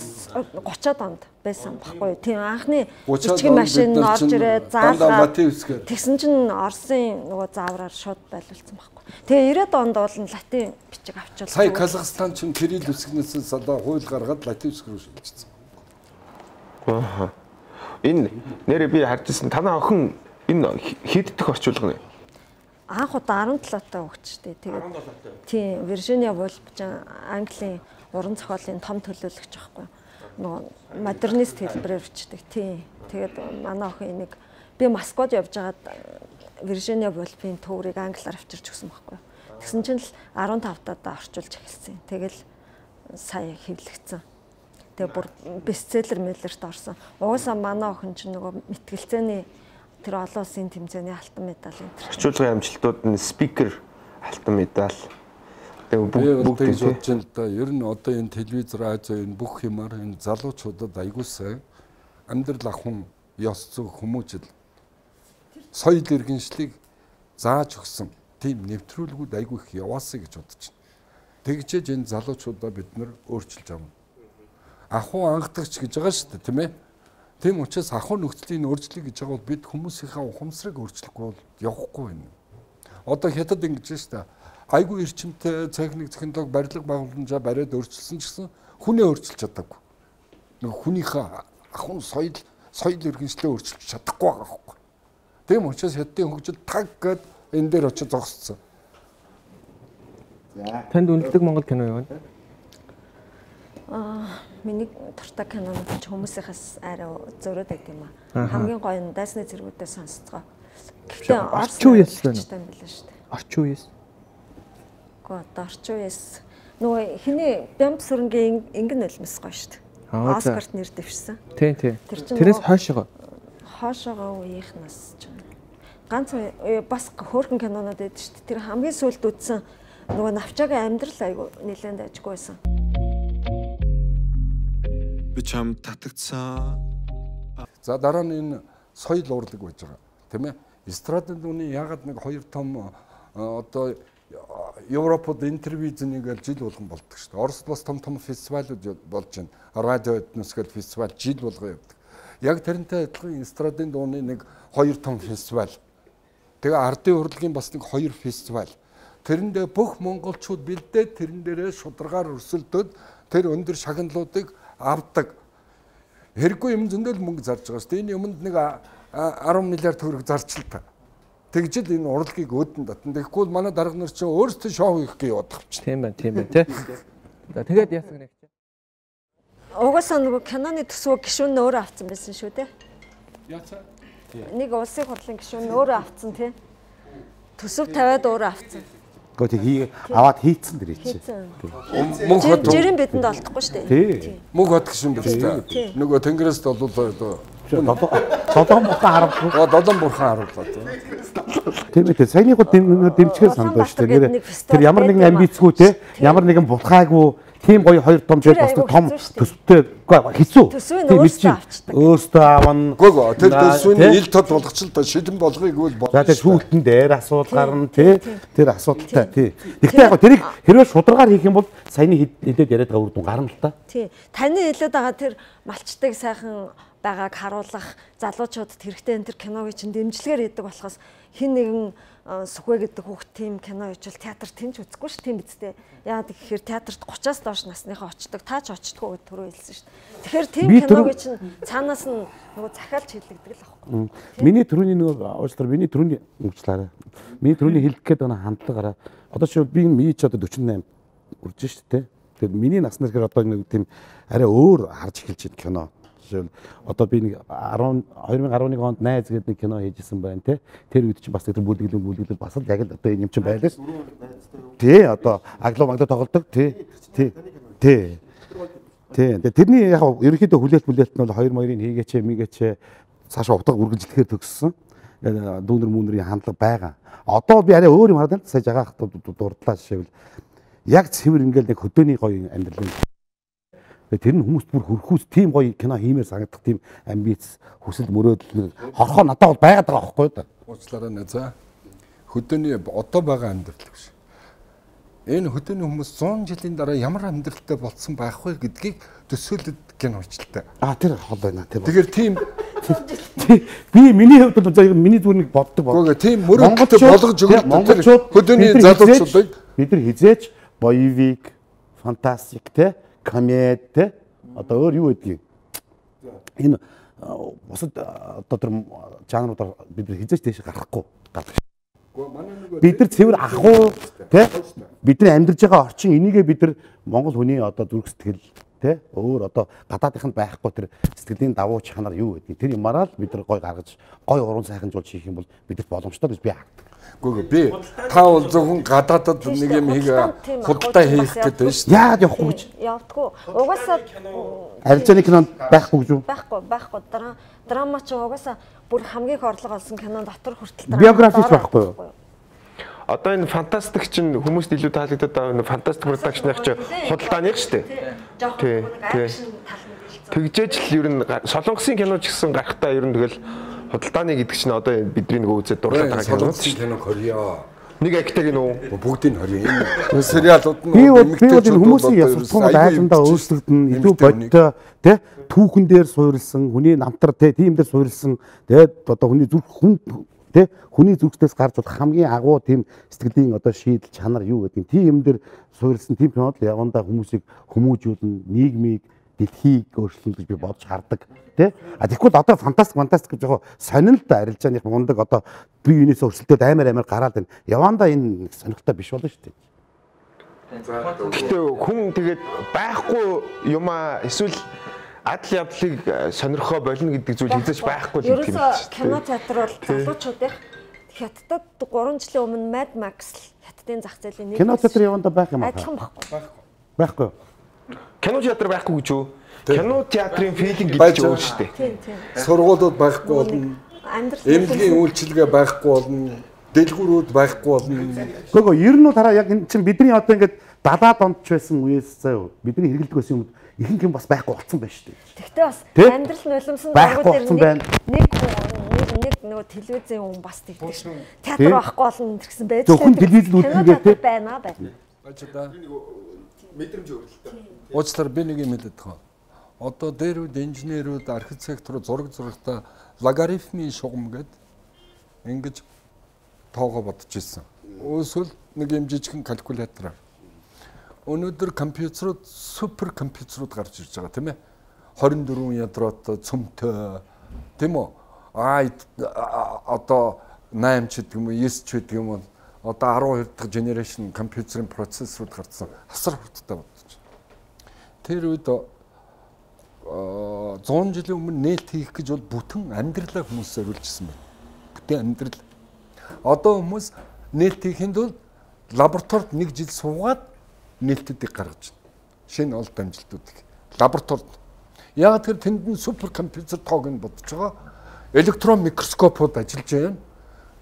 гучаад онд байсан баггүй. Тийм анхны бичгийн машин орж ирээд заалгаа тэгсэн чинь Оросын нөгөө заавраар шууд байлуулсан баггүй. Тэгээ ирээд онд бол латин бичиг авчвал. Сая Казахстан чинь кирилл үсгнээс одоо хууль гаргаад латин үсэг рүү шилжчихсэн. Аа. Энэ нэрээ би харжсэн танаа охин энэ хийддэх орчуулга нэ. Анх удаа арван долоо таа өгчтэй. Тэгээд тийм Виржиниа Вулф Английн уран зохиолын том төлөөлөгч байхгүй. Нөгөө модернист хэлбэрээр бичдэг. Тийм. Тэгээд манай охин энийг би Москвад явж байгаад Виржиниа Вулфийн төврийг англиар авчирч өгсөн байхгүй. Тэгсэн чинь л арван тав таа орчуулж эхэлсэн. Тэгэл сая хэвлэгдсэн. Тэгээ бүр бестселлер мэлэрт орсон. Угаасаа манай охин чинь нөгөө мэтгэлцээний тэр олон улсын тэмцээний алтан медаль энэ. Орчуулгын амжилтууд нь спикер алтан медаль. Тэгээ бүгд тэгж бодож байна л да. Ер нь одоо энэ телевиз, радио энэ бүх юмар энэ залуучуудад аягүй сайн амьдрал ахын ёс зүйн хүмүүжил соёл иргэншлийг зааж өгсөн тийм нэвтрүүлгүүд аягүй их яваасаа гэж бодож байна. Тэгжээж энэ залуучуудаа бид нар өөрчилж авна. Ахуй ангадагч гэж байгаа шүү дээ, тийм ээ. Тийм учраас ахуй нөхцөлийн өөрчлөлт гэж байгаа бол бид хүмүүсийнхээ ухамсарыг өөрчлөхгүй бол явахгүй байна. Одоо хятад ингэж шүү дээ. Айгүй эрчимтэй техник технологи барилга байгууламжаа бариад өөрчилсөн ч гэсэн хүнээ өөрчилж чадаагүй. Нэг хүнийхээ ахуй соёл соёл иргэншлээ өөрчилж чадахгүй байгаа байхгүй. Тийм учраас хятадын хөгжил таг гэд энэ дээр очиж зогсцсон. За. Танд үнэлдэг Монгол кино юу вэ? Аа, миний дуртай кинонууд ч хүмүүсийнхээс арай зөрөөд байт юм аа. Хамгийн гоё нь дайсны зэргүүдээ сонсцгоо. Гэхдээ орчин үеэс байна шүү дээ. Орчин үеэс. Гэхдээ орчин үеэс нөгөө хиний Бямб сүрэнгийн ингэн нулимс гоё шүү дээ. Оскарт нэр дэвшсэн. Тийм тийм. Тэрээс хойшоо. Хойшоогоо үеийнхнаас ч ганц бас хөөрхөн кинонууд байдаг шүү дээ. Тэр хамгийн сүүлд үзсэн нөгөө навчаагийн амьдрал айгу нэлээд ажгүй байсан. Би чам татагцсан. За дараа нь энэ соёл урлаг байж байгаа. Тийм ээ. Эстрадын дүний ягаад нэг хоёр том одоо Европод интервизнийг жил болгон болдог шүү дээ. Оросд бас том том фестивалууд болж байна. Радио этнос гэдэг фестивал жил болгон явдаг. Яг тэрнтэй адилхан эстрадын дууны нэг хоёр том фестивал. Тэгээ ардын урлагийн бас нэг хоёр фестивал. Тэрэндээ бүх монголчууд бэлдээд тэрэн дээрээ шударгаар өрсөлдөд тэр өндөр шагналуудыг авдаг. Хэрэггүй юм зөндөл мөнгө зарж байгаа шүү дээ. Энэ юмд нэг арван миллиард төгрөг зарч л та. Тэгжэл энэ урлагийг өөдөн татна. Тэгэхгүй бол манай дарга нар чинь өөрсдөө шоу хийх гэж яваад авчих. Тийм байна, тийм байна тий. За тэгээд яасан гэнэ. Угаасаа нөгөө киноны төсвөө гишүүн өөрөө авсан байсан шүү дээ. Яцаа. Нэг улсын хурлын гишүүн өөрөө авсан тий. Төсөв тавиад өөрөө авсан. Гэхдээ хий аваад хийцэн дэр чи. Мөнх хот жирийн бидэнд олдохгүй шүү дээ. Тий. Мөнх хот гişүн биз дээ. Нөгөө Тэнгэрээс болоо Долоон бурхан харуулсан. Оо долоон бурхан харууллаа. Тийм үү. Саяны гоо дэмжихээс сандаа шүү дээ. Тэр ямар нэгэн амбицгүй те ямар нэгэн булхаагүй тийм гоё хоёр том жил бас том төсөвтэй хэцүү. Тийм мэдчихэв. Өөртөө авна. Гөө тэр төсвийн ил тод болгочлоо шилэн болгоёг бол болно. За тэр шүүлтэн дээр асуудал гарна тий. Тэр асуудалтай тий. Гэхдээ яг тэрийг хэрвээ шударгаар хийх юм бол саяны хэдээд яриад байгаа үр дүн гарна л та. Тий. Таны хэлээд байгаа тэр малчтыг сайхан байгааг харуулах залуучуудад хэрэгтэй энэ тэр киногийн чинь дэмжлэгээр хийдэг болохоос хин нэгэн Сүхвэ гэдэг хүүхд тийм кино ижил театр тэнч үзэхгүй ш тийм биз дээ. Яагаад гэхээр театрт гучаас доош насныхаа очдог, таач очдгоо гэж түрүү хэлсэн ш. Тэгэхээр тийм киногийн чинь цаанаас нь нөгөө захиалж хилэгдэг л аахгүй. Миний түрүүний нөгөө уучлаарай, миний түрүүний уучлаарай. Миний түрүүний хэлэх гээд байгаа хандлагаараа одоо чи би миний ч одоо forty eight үрж ш тэ. Тэгэхээр миний насны хэрэг одоо нэг тийм арай өөр харж эхэлж байна кино. Жишээл одоо би нэг twenty eleven онд найз гэдэг нэг кино хийжсэн байна те. Тэр үед чинь бас тэр бүлэглэн бүлэглэн бас л яг л одоо юм чинь байлаа ш. Тий одоо аглуу магадгүй тоглодог тий. Тий. Тий. Тий. Тэрний яг ерөнхийдөө хүлээлт мүлээлт нь бол two two-ыг хийгээч мигээч цаашаа утга үргэлжлэхээр төгссөн. Дүүнер мүнэрийн хандлага байгаа. Одоо би арай өөр юм хараад байна. Сая жагаах дурдлаа жишээвэл яг цэвэр ингээл нэг хөдөөний гоё амьдрал. Тэр нь хүмүүст бүр хөрхүүс тийм гоё кино хиймээр санагдах тийм амбиц хүсэл мөрөөдөл хорхоо надад бол байгаад байгаа байхгүй юу? Уучлаарай нэ за. Хөдөөний одоо байгаа амьдрал гэж. Энэ хөдөөний хүмүүс one hundred жилийн дараа ямар амьдралтай болсон байх вэ гэдгийг төсөөлөд кино хийлээ. Аа тэр хол байна тийм. Тэгэхээр тийм би миний хувьд бол миний зүрхийг боддог байна. Тийм мөрөөдөлтэй болгож өгөх монголчууд хөдөөний залуучуудыг бид нар хизээч боевик, фантастик те комед те одоо өөр юу гэдгийг энэ бусад одоо тэр жанруудаар бид нар хизээч тийш гарахгүй гарах. Бид нар цэвэр ахуу те бидний амьдарч байгаа орчин энийгээ бид нар монгол хүний одоо зүрх сэтгэл те өөр одоо гадаадынханд байхгүй тэр сэтгэлийн давуу чанар юу гэдгийг тэр юмараа л бид нар гой гаргаж гой уран сайхан жуулч хийх юм бол бидэрт боломжтой гэж би хардаг. Гүг би та бол зөвхөн гадаадад нэг юм хийгээ худалдаа хийх гэдэг шүү дээ. Яагаад явахгүй гэж? Явдаггүй. Угаасаа арилжааны кинонд байхгүй гэж үү? Байхгүй, байхгүй. Драма ч угаасаа бүр хамгийн их орлого олсон кинон дотор хүртэл драма. Биографич байхгүй юу? Одоо энэ фантастик чинь хүмүүст илүү таалагдаад байгаа энэ фантастик продакшных чинь худалдааных шүү дээ. Тий. Тий. Тэгжээч л ер нь солонгосын кино ч гэсэн гарахтаа ер нь тэгэл худалдааны гэдэг чинь одоо бидний нэг үзээд дурлаад байгаа кино. Солонгосын кино Кореа. Нэг актиг нөө бүгдийг хорё. Энэ сериалууд нь би бол хүмүүсийн ясварсан айжандаа өөрсдөлдөн илүү бодтой тий түүхэн дээр суурилсан хүний намтар тий тийм дээр суурилсан тэгээд одоо хүний зүрх хүн тий хүний зүрхтээс гарч болох хамгийн агуу тийм сэтгэлийн одоо шийдэл чанар юу гэдэг тийм юм дээр суурилсан тийм кинод л явандаа хүмүүсийг хүмүүжүүлнэ нийгмийг дэлхийг өөрчлөн гэж би бодож хардаг тий. А тэгвэл одоо фантастик фантастик гэж яг сонин л да арилжааных мундаг одоо бие биенээс өрсөлдөд аймаар аймаар гараад байна. Яванда энэ сонирхолтой биш болно шүү дээ. Гэтэ хүн тэгээд байхгүй юмаа эсвэл адал явдлыг сонирхоо болно гэдэг зүйл хязгаарч байхгүй л юм. Ерөөсө кино театр бол залуучуудын хятадд three жилийн өмнө Mad Max хятадын зах зээлийн нэг кино театр яванда байх юм аа. Адилхан байхгүй. Байхгүй. Кино театр байхгүй гэж юу? Кино театрын филинг гэж өөр шүү дээ. Тийм тийм. Сургуулиуд байхгүй болно. Эмнэлгийн үйлчилгээ байхгүй болно. Дэлгүүрүүд байхгүй болно. Гөгөө ер нь тараа яг энэ чинь бидний одоо ингээд далаад онд ч байсан үеэс заяа бидний хэрэглэдэг байсан юм ихэнх юм бас байхгүй болсон байна шүү дээ. Тэгтээ бас амьдрал нулимсан байгууллагууд дээр нэг нэг нөгөө телевизийн хүн бас тэгдэг шүү. Театр байхгүй болно гэсэн байж тээ. Зөвхөн телевизэд үздэг байна байна. Бачаа мэдрэмж өөрлөлтөө. Уучлаар би нэг юм хэлээд байгаа. Одоо дээрүүд инженерүүд архитектор зураг зурагта логарифмын шугам гээд ингэж тоогоо бодож ирсэн. Өөрөсөл нэг юм жижигхэн калькулятораар. Өнөөдөр компьютерууд супер компьютерууд гарч ирж байгаа тийм ээ. twenty-four ядротой цөмтэй тийм үү? Аа одоо nine ч гэдэг юм уу, nine ч гэдэг юм уу. Одоо twelve дахь generation компьютерийн процессорууд гарсан. Асар хурдтай бодож байна. Тэр үед зуун жилийн өмнө нээлт хийх гэж бол бүтэн амьдралаа хүмүүс зориулжсэн байна. Бүтэн амьдрал. Одоо хүмүүс нээлт хийхэд бол лабораторид нэг жил суугаад нээлтүүдийг гаргаж байна. Шинэ олд амжилтуудыг лабораторид. Яг тэр тэнд нь супер компьютер тоог нь бодож байгаа. Электрон микроскопууд ажиллаж байна.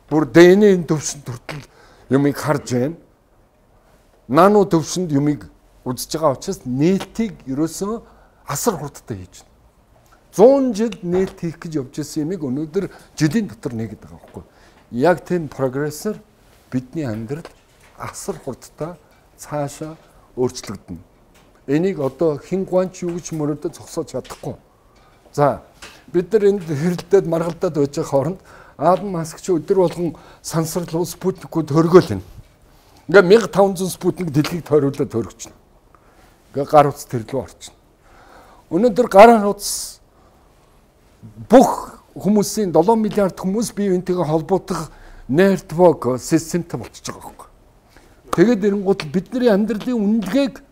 Бүр дэ эн эн төвшөнд хүртэл юмыг харж байна. Нано төвшөнд юмыг үзэж байгаа учраас нээлтийг ерөөсөө асар хурдтай хийж байна. зуун жил нээлт хийх гэж явж байсан юмыг өнөөдөр жилийн дотор нэгэд байгаа байхгүй. Яг тийм прогрессор бидний амьдрал асар хурдтай цаашаа өөрчлөгдөнө. Энийг одоо хин гуанч юу гэж мөрөдө зогсоож чадахгүй. За бид нар энд хэрэлдээд маргалдаад байж байгаа хооронд Аадам Маск ч өдөр болгон сансарлуу спутникүүд хөргөөл байна. Ингээ мянга таван зуун спутник дэлхийг тойруулаад хөргөж байна. Ингээ гар утас төрлөө орчихно. Өнөөдөр гар утас бүх хүмүүсийн долоон миллиард хүмүүс бие биентэйгээ холбоотох нетворк системтэй болчихж байгаа байхгүй. Тэгээд эренгуут бидний амьдралын үнэлгээг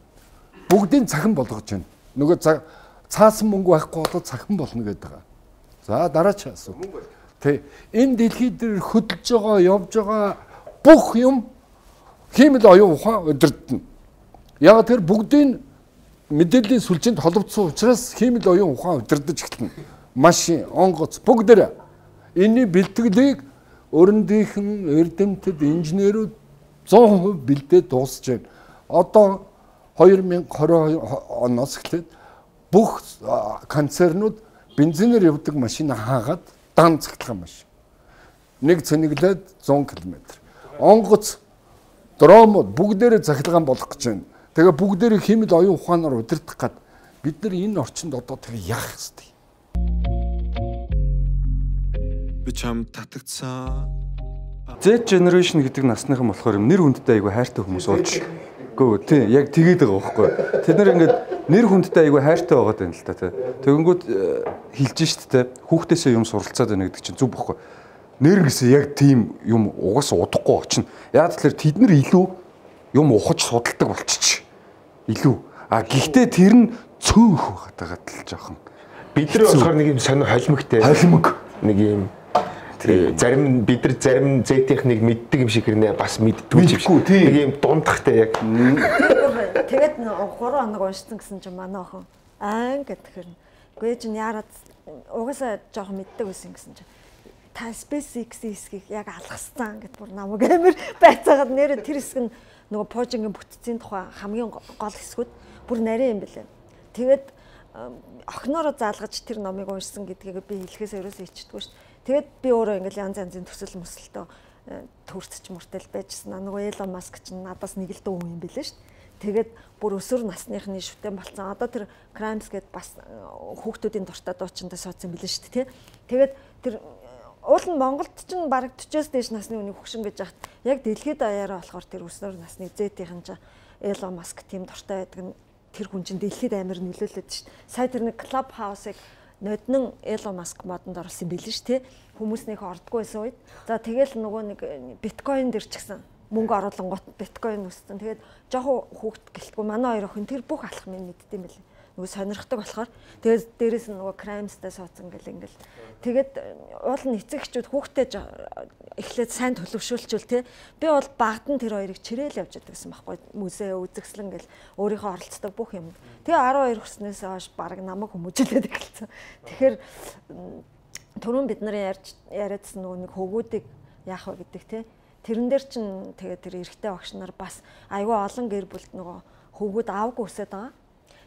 бүгдийн цахим болгож байна. Нөгөө цаасан мөнгө байхгүй болоод цахим болно гэдэг байгаа. За дараач асуу. Тэ энэ дэлхий дээр хөдөлж байгаа, явж байгаа бүх юм хиймэл оюун ухаан өдөрдөн. Яг тэр бүгдийн мэдээллийн сүлжээнд холбогдсон учраас хиймэл оюун ухаан өдөрдөж эхэлнэ. Машин, онгоц бүгдээрээ энэний бэлтгэлийг өрөндийнхэн эрдэмтэд, инженерүүд зуун хувь бэлдээд дуусж байна. Одоо две тысячи двадцать оноос эхлээд бүх концернууд бензинээр явдаг машин хаагаад дан цахилгаан машин. Нэг цэнэглээд зуун километр. Онгоц, дромууд бүгдээрээ цахилгаан болгох гэж байна. Тэгээ бүгдээрээ хэмэл оюун ухаанаар удирдах гад бид нар энэ орчинд одоо тэгээ яах ёстой. Би чам татагцсан. Z generation гэдэг насныхан болохоор юм нэр хүндтэй айгүй хайртай хүмүүс болж гөө тий яг тэгээд байгаа байхгүй. Тэд нар ингээд нэр хүндтэй айгүй хайртай байгаад байна л та тий. Тэгэнгүүт хэлж шít тий хүүхдээсээ юм суралцаад байна гэдэг чинь зүг байхгүй. Нэр гэсэн яг тийм юм угаас удахгүй очно. Яг тэгэхээр тэд нар илүү юм ухаж судалдаг болчих. Илүү. А гэхдээ тэр нь цөөнх байгаад л жоохон. Бид нар болохоор нэг юм сонио холимогтэй. Холимог нэг юм зарим бид нар зарим Z-ийг мэддэг юм шиг хэрнээ бас мэддгүй юм шиг. Нэг юм дундахтай яг. Тэгээд гурван хоног уншсан гэсэн чинь манай охин аа гэдэг хэрнэ. Гүй чинь яарад угаасаа жоохон мэддэг байсан гэсэн чинь та SpaceX хэсгийг яг алгассан гэд бүр намайг амар байцаагаад нэрээ тэр хэсэг нь нөгөө пожингийн бүтцийн тухай хамгийн гол хэсгүүд бүр нарийн юм бэлээ. Тэгээд охиноороо заалгаж тэр номыг уншсан гэдгийг би хэлэхээс ерөөсөө ичдэггүй шүү. Тэгээд би өөрөө ингээл янз янзын төсөл мөсөлтөө төрцөж мөртөл байжсан. Нөгөө Elon Musk ч надаас нэг л дүү юм бэлээ шүү. Тэгээд бүр өсвөр насныхны шүтэн болцсон. Одоо тэр Crimes гээд бас хүүхдүүдийн дуртай дуучинтай суудсан билээ шүү дээ. Тэгээд тэр уул нь Монголд ч бараг forty-с дээш насны үний хөгшин гэж яхад яг дэлхийд даяараа болохоор тэр өсвөр насны Z-ийн ч Elon Musk тийм дуртай байдаг нь тэр хүн чинь дэлхийд амар нөлөөлөд шүү дээ. Сая тэр нэг Clubhouse-ыг ноднон Elon Musk модонд оруулсан билээ шүү дээ. Хүмүүс нэг ордгоо байсан үед. За тэгэл нөгөө нэг биткойн дэр ч гэсэн мөнгө оруулангууд биткойн өссөн. Тэгээд жоохон хүүхд гэлтгүй манай хоёр охин тэр бүх алах минь мэддэм билээ. Нөгөө сонирхдаг болохоор тэгээд дээрэс нь нөгөө Crimes-тай суудсан гэл ингээл. Тэгээд уул нь эцэгчүүд хүүхдээ эхлээд сайн төлөвшүүлчихвэл тий. Би бол багт нь тэр хоёрыг чирээл явж байдаг гэсэн байхгүй. Музей үзэгслэн гэл өөрийнхөө оролцдог бүх юм. Тэгээ twelve хүрснээс хойш баг намайг хүмүүжүүлээд эхэлсэн. Тэгэхээр түрүүн бид нарын ярьж яриадсан нөгөө нэг хөвгүүдийг яах вэ гэдэг тий. Тэрэн дээр чинь тэгээ тэр эрэгтэй багш нар бас айгүй олон гэр бүлд нөгөө хөвгүүд аавгүй өсөд байгаа.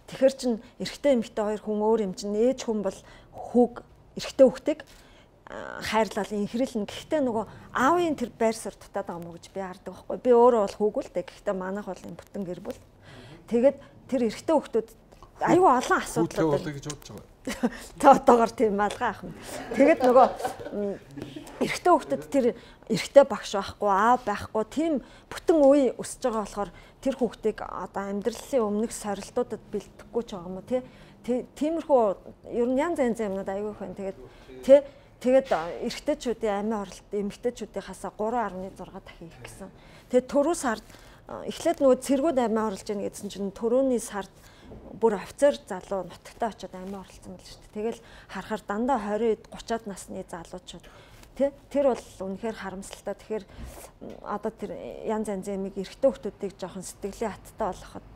Тэгэхэр чин эрэгтэй эмэгтэй хоёр хүн өөр юм чин ээж хүн бол хүүг эрэгтэй хүүхдийг хайрлал инхрэлнэ. Гэхдээ нөгөө аавын тэр байр суурь дутаад байгаа мó гэж би хардаг байхгүй. Би өөрөө бол хүүгүүл дээ. Гэхдээ манайх бол юм бүтэн гэр бүл. Тэгээд тэр эрэгтэй хүүхдүүд аюу олон асуудал болоо гэж бодож байгаа. Тэ одоогор тийм малгай ах юм. Тэгээд нөгөө эрэгтэй хүүхдэд тэр эрэгтэй багш байхгүй, аав байхгүй тийм бүтэн үе өсөж байгаа болохоор тэр хүүхдийг одоо амьдралын өмнөх сорилтуудад бэлтгэхгүй ч байгаа юм уу тий. Тиймэрхүү ер нь янз янз юмнууд аюу их байна. Тэгээд тий тэгээд эрэгтэйчүүдийн амиа оролт эмэгтэйчүүдийн хасаа three point six дахин их гэсэн. Тэгээд түрүү сард эхлээд нөгөө цэргүүд амиа оруулж яана гэсэн чинь түрүүний сард бүр офицер залуу нутагтаа очиод амиа оролцсон мэл шүү дээ. Тэгэл харахаар дандаа двадцать гуравчаад насны залуучууд тий тэр бол үнэхээр харамсалтай. Тэгэхээр одоо тэр янз янзын юмыг эрэгтэй хүмүүсийг жоохон сэтгэлийн хаттай болгоход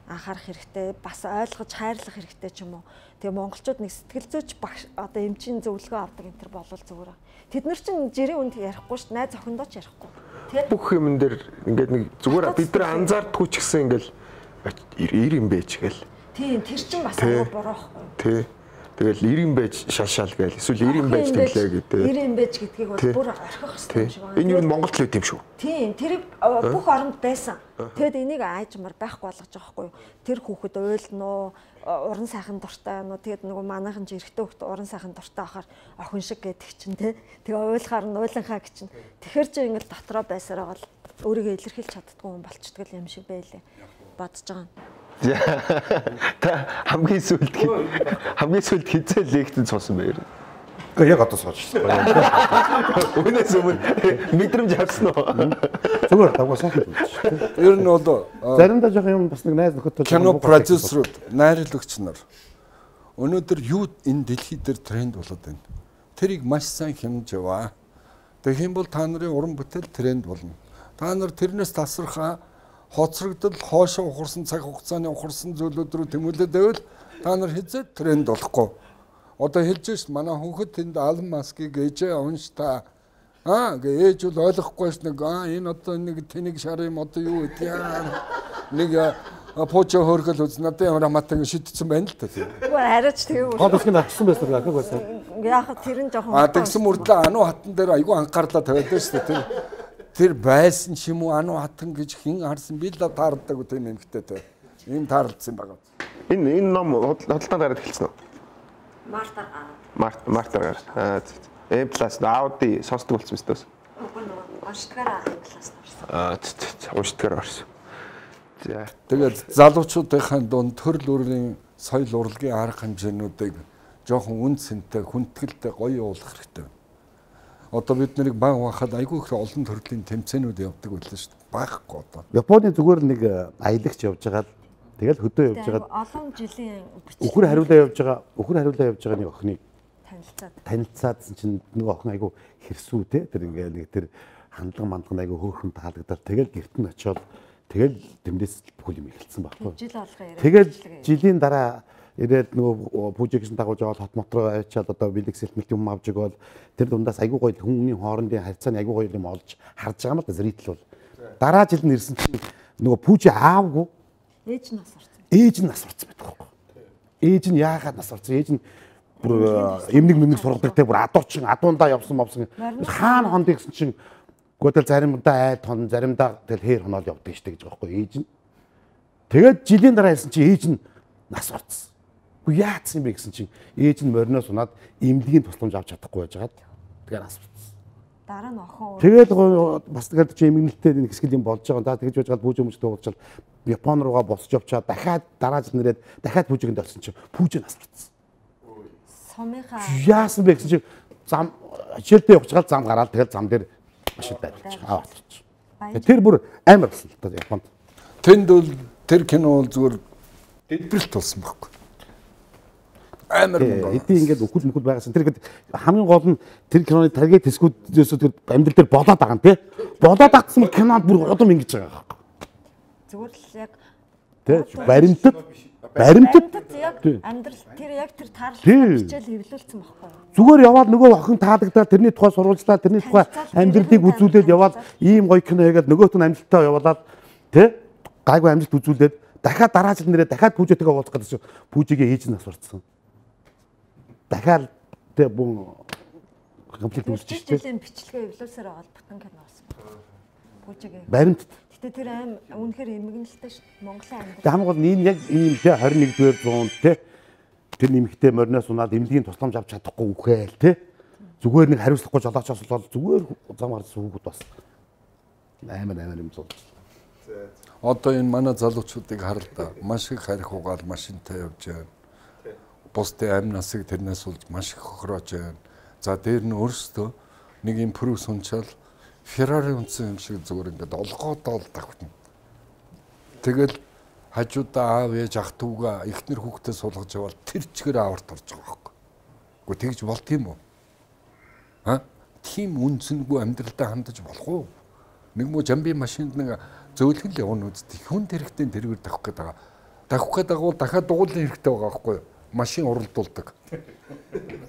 анхаарах хэрэгтэй, бас ойлгож хайрлах хэрэгтэй ч юм уу. Тэгээ монголчууд нэг сэтгэл зүйч багш одоо эмчийн зөвлөгөө авдаг энэ төр болвол зүгээр. Тэд нар чинь жирийн үнд ярихгүй шүү дээ, найз охиндоо ч ярихгүй. Тэ бүх юм дээр ингээд нэг зүгээр бид нар анзаардгүй ч гэсэн ингээл ир юм байж гээл. Тийм, тэр чинь бас аяа буруу байхгүй. Тий. Тэгэл ир юм байж шалшаал гээл. Эсвэл ир юм байж тэглээ гэдэг. ир юм байж гэдгийг бол бүр орхих хэрэгтэй юм шиг байна. Энэ юу Монголд л үт юм шүү. Тийм, тэр бүх оронд байсан. Тэгэд энийг аажмар байхгүй болгож байгаа байхгүй юу? Тэр хүүхэд уйлнуу, уран сайхан дуртай нуу. Тэгэд нөгөө манайхан ч эрэгтэй хүүхэд уран сайхан дуртай ахаар охин шиг гэдэг чинь тий. Тэгээ уйлахаар нь уйланхаа гэж чинь. Тэгэхэр чи ингээл дотроо байсараа бол өөрийгөө илэрхийлж чаддгүй хүн болчихдгол юм шиг байлээ. Бодож байгаа. Та хамгийн сүлд хамгийн сүлд хизээ лекцэд суусан байр. Гэхдээ яг одоо суучсан. Өнөөс өмнө мэдрэмж авсан уу? Зүгээр дагуу сайхан үзчих. Ер нь бол заримдаа жоох юм бас нэг найз нөхөдтэй кино продюсерууд, найруулагч нар өнөөдөр юу энэ дэлхий дээр тренд болоод байна. Тэрийг маш сайн хэмж яваа. Тэгэх юм бол та нарын уран бүтээл тренд болно. Та нар тэрнээс тасархаа хоцрогдол хоошоо ухарсан цаг хугацааны ухарсан зүйлүүд рүү тэмүүлээд байвал та нар хизээ тренд болохгүй. Одоо хэлж шээ манай хүүхэд тэнд Алан Маскыг ээжээ унш та аа гээ ээж бол ойлгохгүйс нэг аа энэ одоо нэг тэнэг шар юм одоо юу гэдэг яа нэг пуучо хөргөл үз надад ямар хамаатай шидсэн байна л та тийм. Үгүй хараач тэгээ үү. Хол их авсан байсан гэх байсан. Яг тэр нь жоохон аа тэгсэн мөрдлөө ануу хатан дээр айгүй анхаарлаа тавиад байна шүү дээ. Тэр байсан ч юм уу ануу хатан гэж хин харсан би л таардаг үү тийм эмхтэй те. Ийм таарлцсан байгаа. Энэ энэ ном хөдөлтөнд гараад эхэлсэн үү? Мартаар гараад. Март мартаар гараад. Аа Э плюс Ауди сонсдог болсон мэт өс. Үгүй нөгөө уншдагаараа Э плюс орсон. Аа уншдагаараа орсон. За тэгээд залуучуудынхаа дунд төрөл өөрийн соёл урлагийн арга хэмжээнүүдийг жоохон үн цэнтэй, хүндэтгэлтэй гоё явуулах хэрэгтэй. Одоо бид нарыг баг бахад айгүй их олон төрлийн тэмцээнүүд явдаг байлаа шүү дээ. Багхгүй одоо. Японы зүгээр нэг аялагч явж байгаа л тэгэл хөдөө явж байгаа. Олон жилийн Өхөр хариулаа явж байгаа. Өхөр хариулаа явж байгаа нэг охиныг танилцаад. Танилцаадсан чинь нөгөө охин айгүй хэрсүү те. Тэр ингээ нэг тэр хандлага мандган айгүй хөөрхөн таалагдаад тэгэл гэрт нь очиод тэгэл тэмдээс бүх юм эхэлсэн байхгүй. Жил болгоо яриад. Тэгэл жилийн дараа ирээд нөгөө пүүжигсэн дагуулж байгаа хот мотроо авчиад одоо бэлэг сэлмэлт юм авч өгөөл тэр дундаас айгүй гоё хүмүүний хоорондын харьцааны айгүй гоё юм олж харж байгаа юм л да зритель бол. Дараа жил нь ирсэн чинь нөгөө пүүжи аавгүй ээж нь нас орсон. Ээж нь нас орсон байдаг байхгүй. Ээж нь яагаад нас орсон? Ээж нь бүр эмнэг мэмнэг сургадаг те бүр адуучин адуундаа явсан мовсон. Хаана хонд гэсэн чинь гүтэл заримдаа айл хон заримдаа тэгэл хээр хоноол явдаг штэ гэж байгаа байхгүй ээж нь. Тэгээд жилийн дараа хэлсэн чинь ээж нь нас орсон. Уу яатсан юм бэ гэсэн чинь ээж нь мориноос унаад эмнэлгийн тусламж авч чадахгүй байж байгаа. Тэгээд нас орсон. Дараа нь охин. Тэгээд бас тэгээд чи эмгэнэлтэй нэг хэсгэл юм болж байгаа. Та тэгж байж гал пүүж өмч дуулчаад Япон руугаа босч явчаад дахиад дараа жил нэрээд дахиад пүүжигэнд орсон чинь пүүж нас орсон. Сумынхаа яасан бэ гэсэн чинь зам хичээлдээ явж байгаа зам гараад тэгэл зам дээр машин байрлаж аваад ирчих. Тэр бүр амар болсон л та Японд. Тэнд бол тэр кино бол зүгээр дэлбэрэлт болсон байхгүй. Амар мөнгө. Эдийн ингээд өхөл мөхөл байгасан. Тэр ихэд хамгийн гол нь тэр киноны таргет хэсгүүдээс тэр амьдрал дээр болоод байгаа юм тий. Болоод агцсан кинонд бүр удам ингэж байгаа байхгүй. зүгээр л яг тий баримтат баримтат яг амьдрал тэр яг тэр таарлал хичээл хэвлүүлсэн байхгүй юу? Зүгээр яваад нөгөө охин таалагдаад тэрний тухай сурвалжлаа тэрний тухай амьдралыг үзүүлээд яваад ийм гоё кино хийгээд нөгөөт нь амжилттай явуулаад тий гайгүй амжилт үзүүлээд дахиад дараа жил нэрээ дахиад пүүжэтэйгээ уулзах гэсэн пүүжигээ хийж нас сурцсан. Дахиад тий бун комплект үзчих тий. Жилийн бичлэгээ эвлүүлсээр байгаа бүтэн кино болсон байна. Пүүжигээ. Баримт. Гэтэ тэр аим үнэхээр эмгэнэлтэй шүү дээ. Монголын амьдрал. Тэг хамгийн гол нь энэ яг ийм тий двадцать нэгдүгээр зуунд тий тэр нэмэгтэй мориноос унаад эмнэлгийн тусламж авч чадахгүй үхээл тий зүгээр нэг хариуцлахгүй жолоочоос бол зүгээр зам гарсан хүүхэд бас аймаг аймаг юм зул. Одоо энэ манай залуучуудыг харал да маш их харих угаал машинтай явж байна. Бусдын амь насыг тэрнээс улж маш их хохироож байна. За дээр нь өөрсдөө нэг юм прүс унчаал Феррари унтсан юм шиг зүгээр ингээд олгоод ол давхтана. Тэгэл хажуудаа аав ээж ах дүүгээ эхнэр хүүхдээ суулгаж явал тэр чигээр аварт орж байгаа байхгүй. Гэхдээ тэгж болт юм уу? А? Тийм үнцэнгүй амьдралдаа хандаж болох уу? Нэг муу жамби машинд нэг зөөлгөн л явна үстэ. Хүн хэрэгтэй тэргээр тавих гээд байгаа. Тавих гээд байгаа бол дахиад дугуулын хэрэгтэй байгаа байхгүй юу? Машин уралдуулдаг.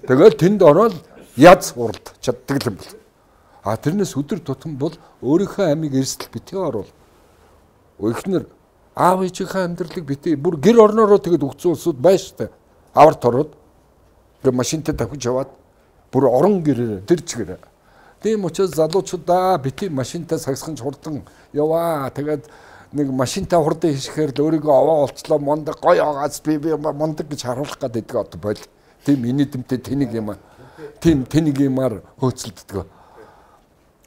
Тэгэл тэнд ороод яз уралд чаддаг юм бол. А тэрнээс өдөр тутам бол өөрийнхөө амийг эрсдэл битгий оруул. Эхнэр аав ээжийнхээ амьдралыг битгий бүр гэр орноороо тэгэд өгцөн улсууд байна штэ. Аварт ороод тэгээ машинтай тавьж яваад бүр орон гэрээр тэр чигээр. Тийм учраас залуучуудаа битгий машинтай сагсхан хурдан яваа. Тэгээд нэг машинтай хурдан хийхээр л өөрийгөө овоо олчлоо мондаг гоё агаас би би мондаг гэж харуулах гэдэг одоо бойл. Тийм инэдэмтэй тэнийг юм. Тийм тэнийг юмар хөөцөлддөг.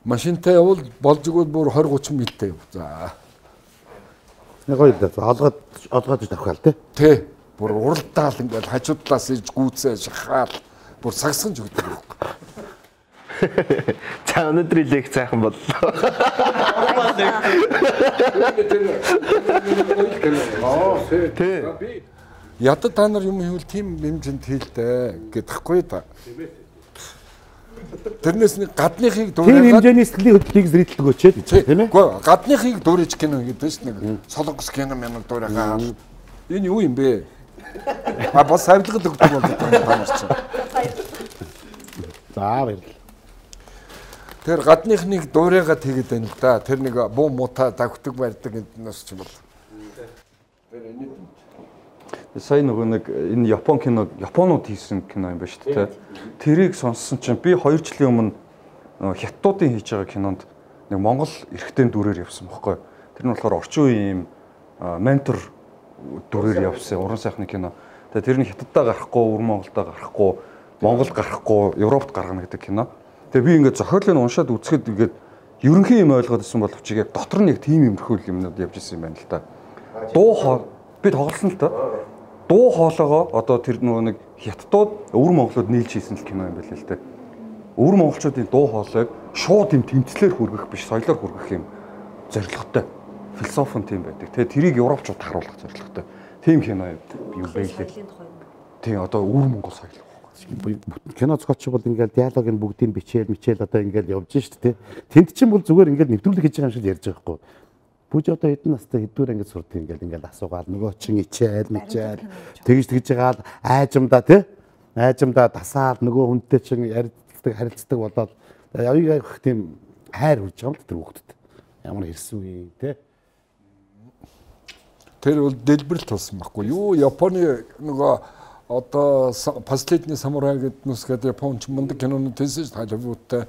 Машинтай явал болж игэл бүр двадцать тридцать милтэй. За. Нэг гоё л олгоод олгоод тавхаал тий. Тий. Бүр уралдаал ингээл хажуудлаас иж гүйцээ шахаал бүр сагсган ч өгдөг байхгүй. За өнөөдрийн лекц сайхан боллоо. Тий. Ядад та нар юм хийвэл тийм хэмжээнд хийлдэ гэдэгхгүй да. Тэрнээс нэг гадныхыг дуурайгаад тийм хэмжээний сэтгэлийн хөдлөлийг зрителд өгөөч тийм ээ. Үгүй гадныхыг дуурайж кино гэдэг чинь нэг солонгос кино мянаг дуурайгаа. Энэ юу юм бэ? А бас авилгад өгдөг бол та нар чинь. За баярлалаа. Тэр гадныхныг дуурайгаад хийгээд байна л да. Тэр нэг буу муута давхдаг барьдаг эднээс ч бол. Тэр энэ сая нөгөө нэг энэ Япон кино, Японууд хийсэн кино юм ба шүү дээ. Тэрийг сонссон чинь би хоёр жилийн өмнө хятадуудын хийж байгаа кинонд нэг Монгол эрхтэн дүрээр явсан байхгүй. Тэр нь болохоор орчин үеийн ментор дүрээр явсан уран сайхны кино. Тэгээ тэр нь хятаддаа гарахгүй, өвөр Монголдоо гарахгүй, Монголд гарахгүй, Европт гаргана гэдэг кино. Тэгээ би ингээд зохиолыг уншаад үзэхэд ингээд ерөнхий юм ойлгоод ирсэн боловч яг дотор нь яг тийм юмрхүүл юмнууд явж ирсэн юм байна л та. Дуу хоо би тоглосон л та. Дуу хоолойгоо одоо тэр нөгөө нэг хятадууд өвөр монголууд нийлж хийсэн л кино юм байл л те. Өвөр монголчуудын дуу хоолойг шууд юм тэмцлэр хүргэх биш, соёлоор хүргэх юм зорилготой. Философи нь тийм байдаг. Тэгээ тэрийг европчууд харуулах зорилготой. Тийм кино юм байлээ. Тийм одоо өвөр монгол соёл. Кино зохиолч бол ингээл диалогийн бүгдийг бичээл мичээл одоо ингээл явж шүү дээ. Тэнд чинь бол зүгээр ингээл нэвтрүүлэг хийж байгаа юм шиг ярьж байгаа байхгүй. Бүж одоо хэдэн настай хэдүүр ангид сурд ингээл ингээл асуугаал нөгөө чин ичээл мичээл тэгж тэгж жагаал айжамдаа тий айжамдаа дасаал нөгөө хүнтэй чин ярилцдаг харилцдаг болоод явыг явах тийм хайр хүрж байгаа юм тэр хүүхдэд ямар хэрсэн үе тий. Тэр бол дэлбэрэл тулсан байхгүй юу? Японы нөгөө одоо последний самурай гэдэг нүсгээд Японч мундаг кинонууд тийсэн шүү Холливуудтай.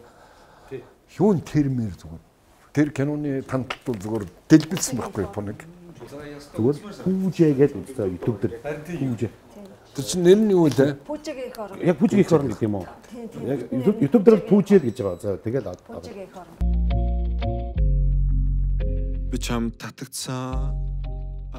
Юун термэр зүгээр. Тэр киноны танталт бол зүгээр дэлбэлсэн байхгүй Японыг. Зүгээр пүүжээ гэж үзсэн YouTube дээр. Пүүжээ. Тэр чинь нэр нь юу вэ? Пүүжэгийн их орон. Яг пүүжэгийн их орон гэдэг юм уу? Яг YouTube дээр пүүжээ гэж байгаа. За тэгэл пүүжэгийн их орон. Би чам татагцсан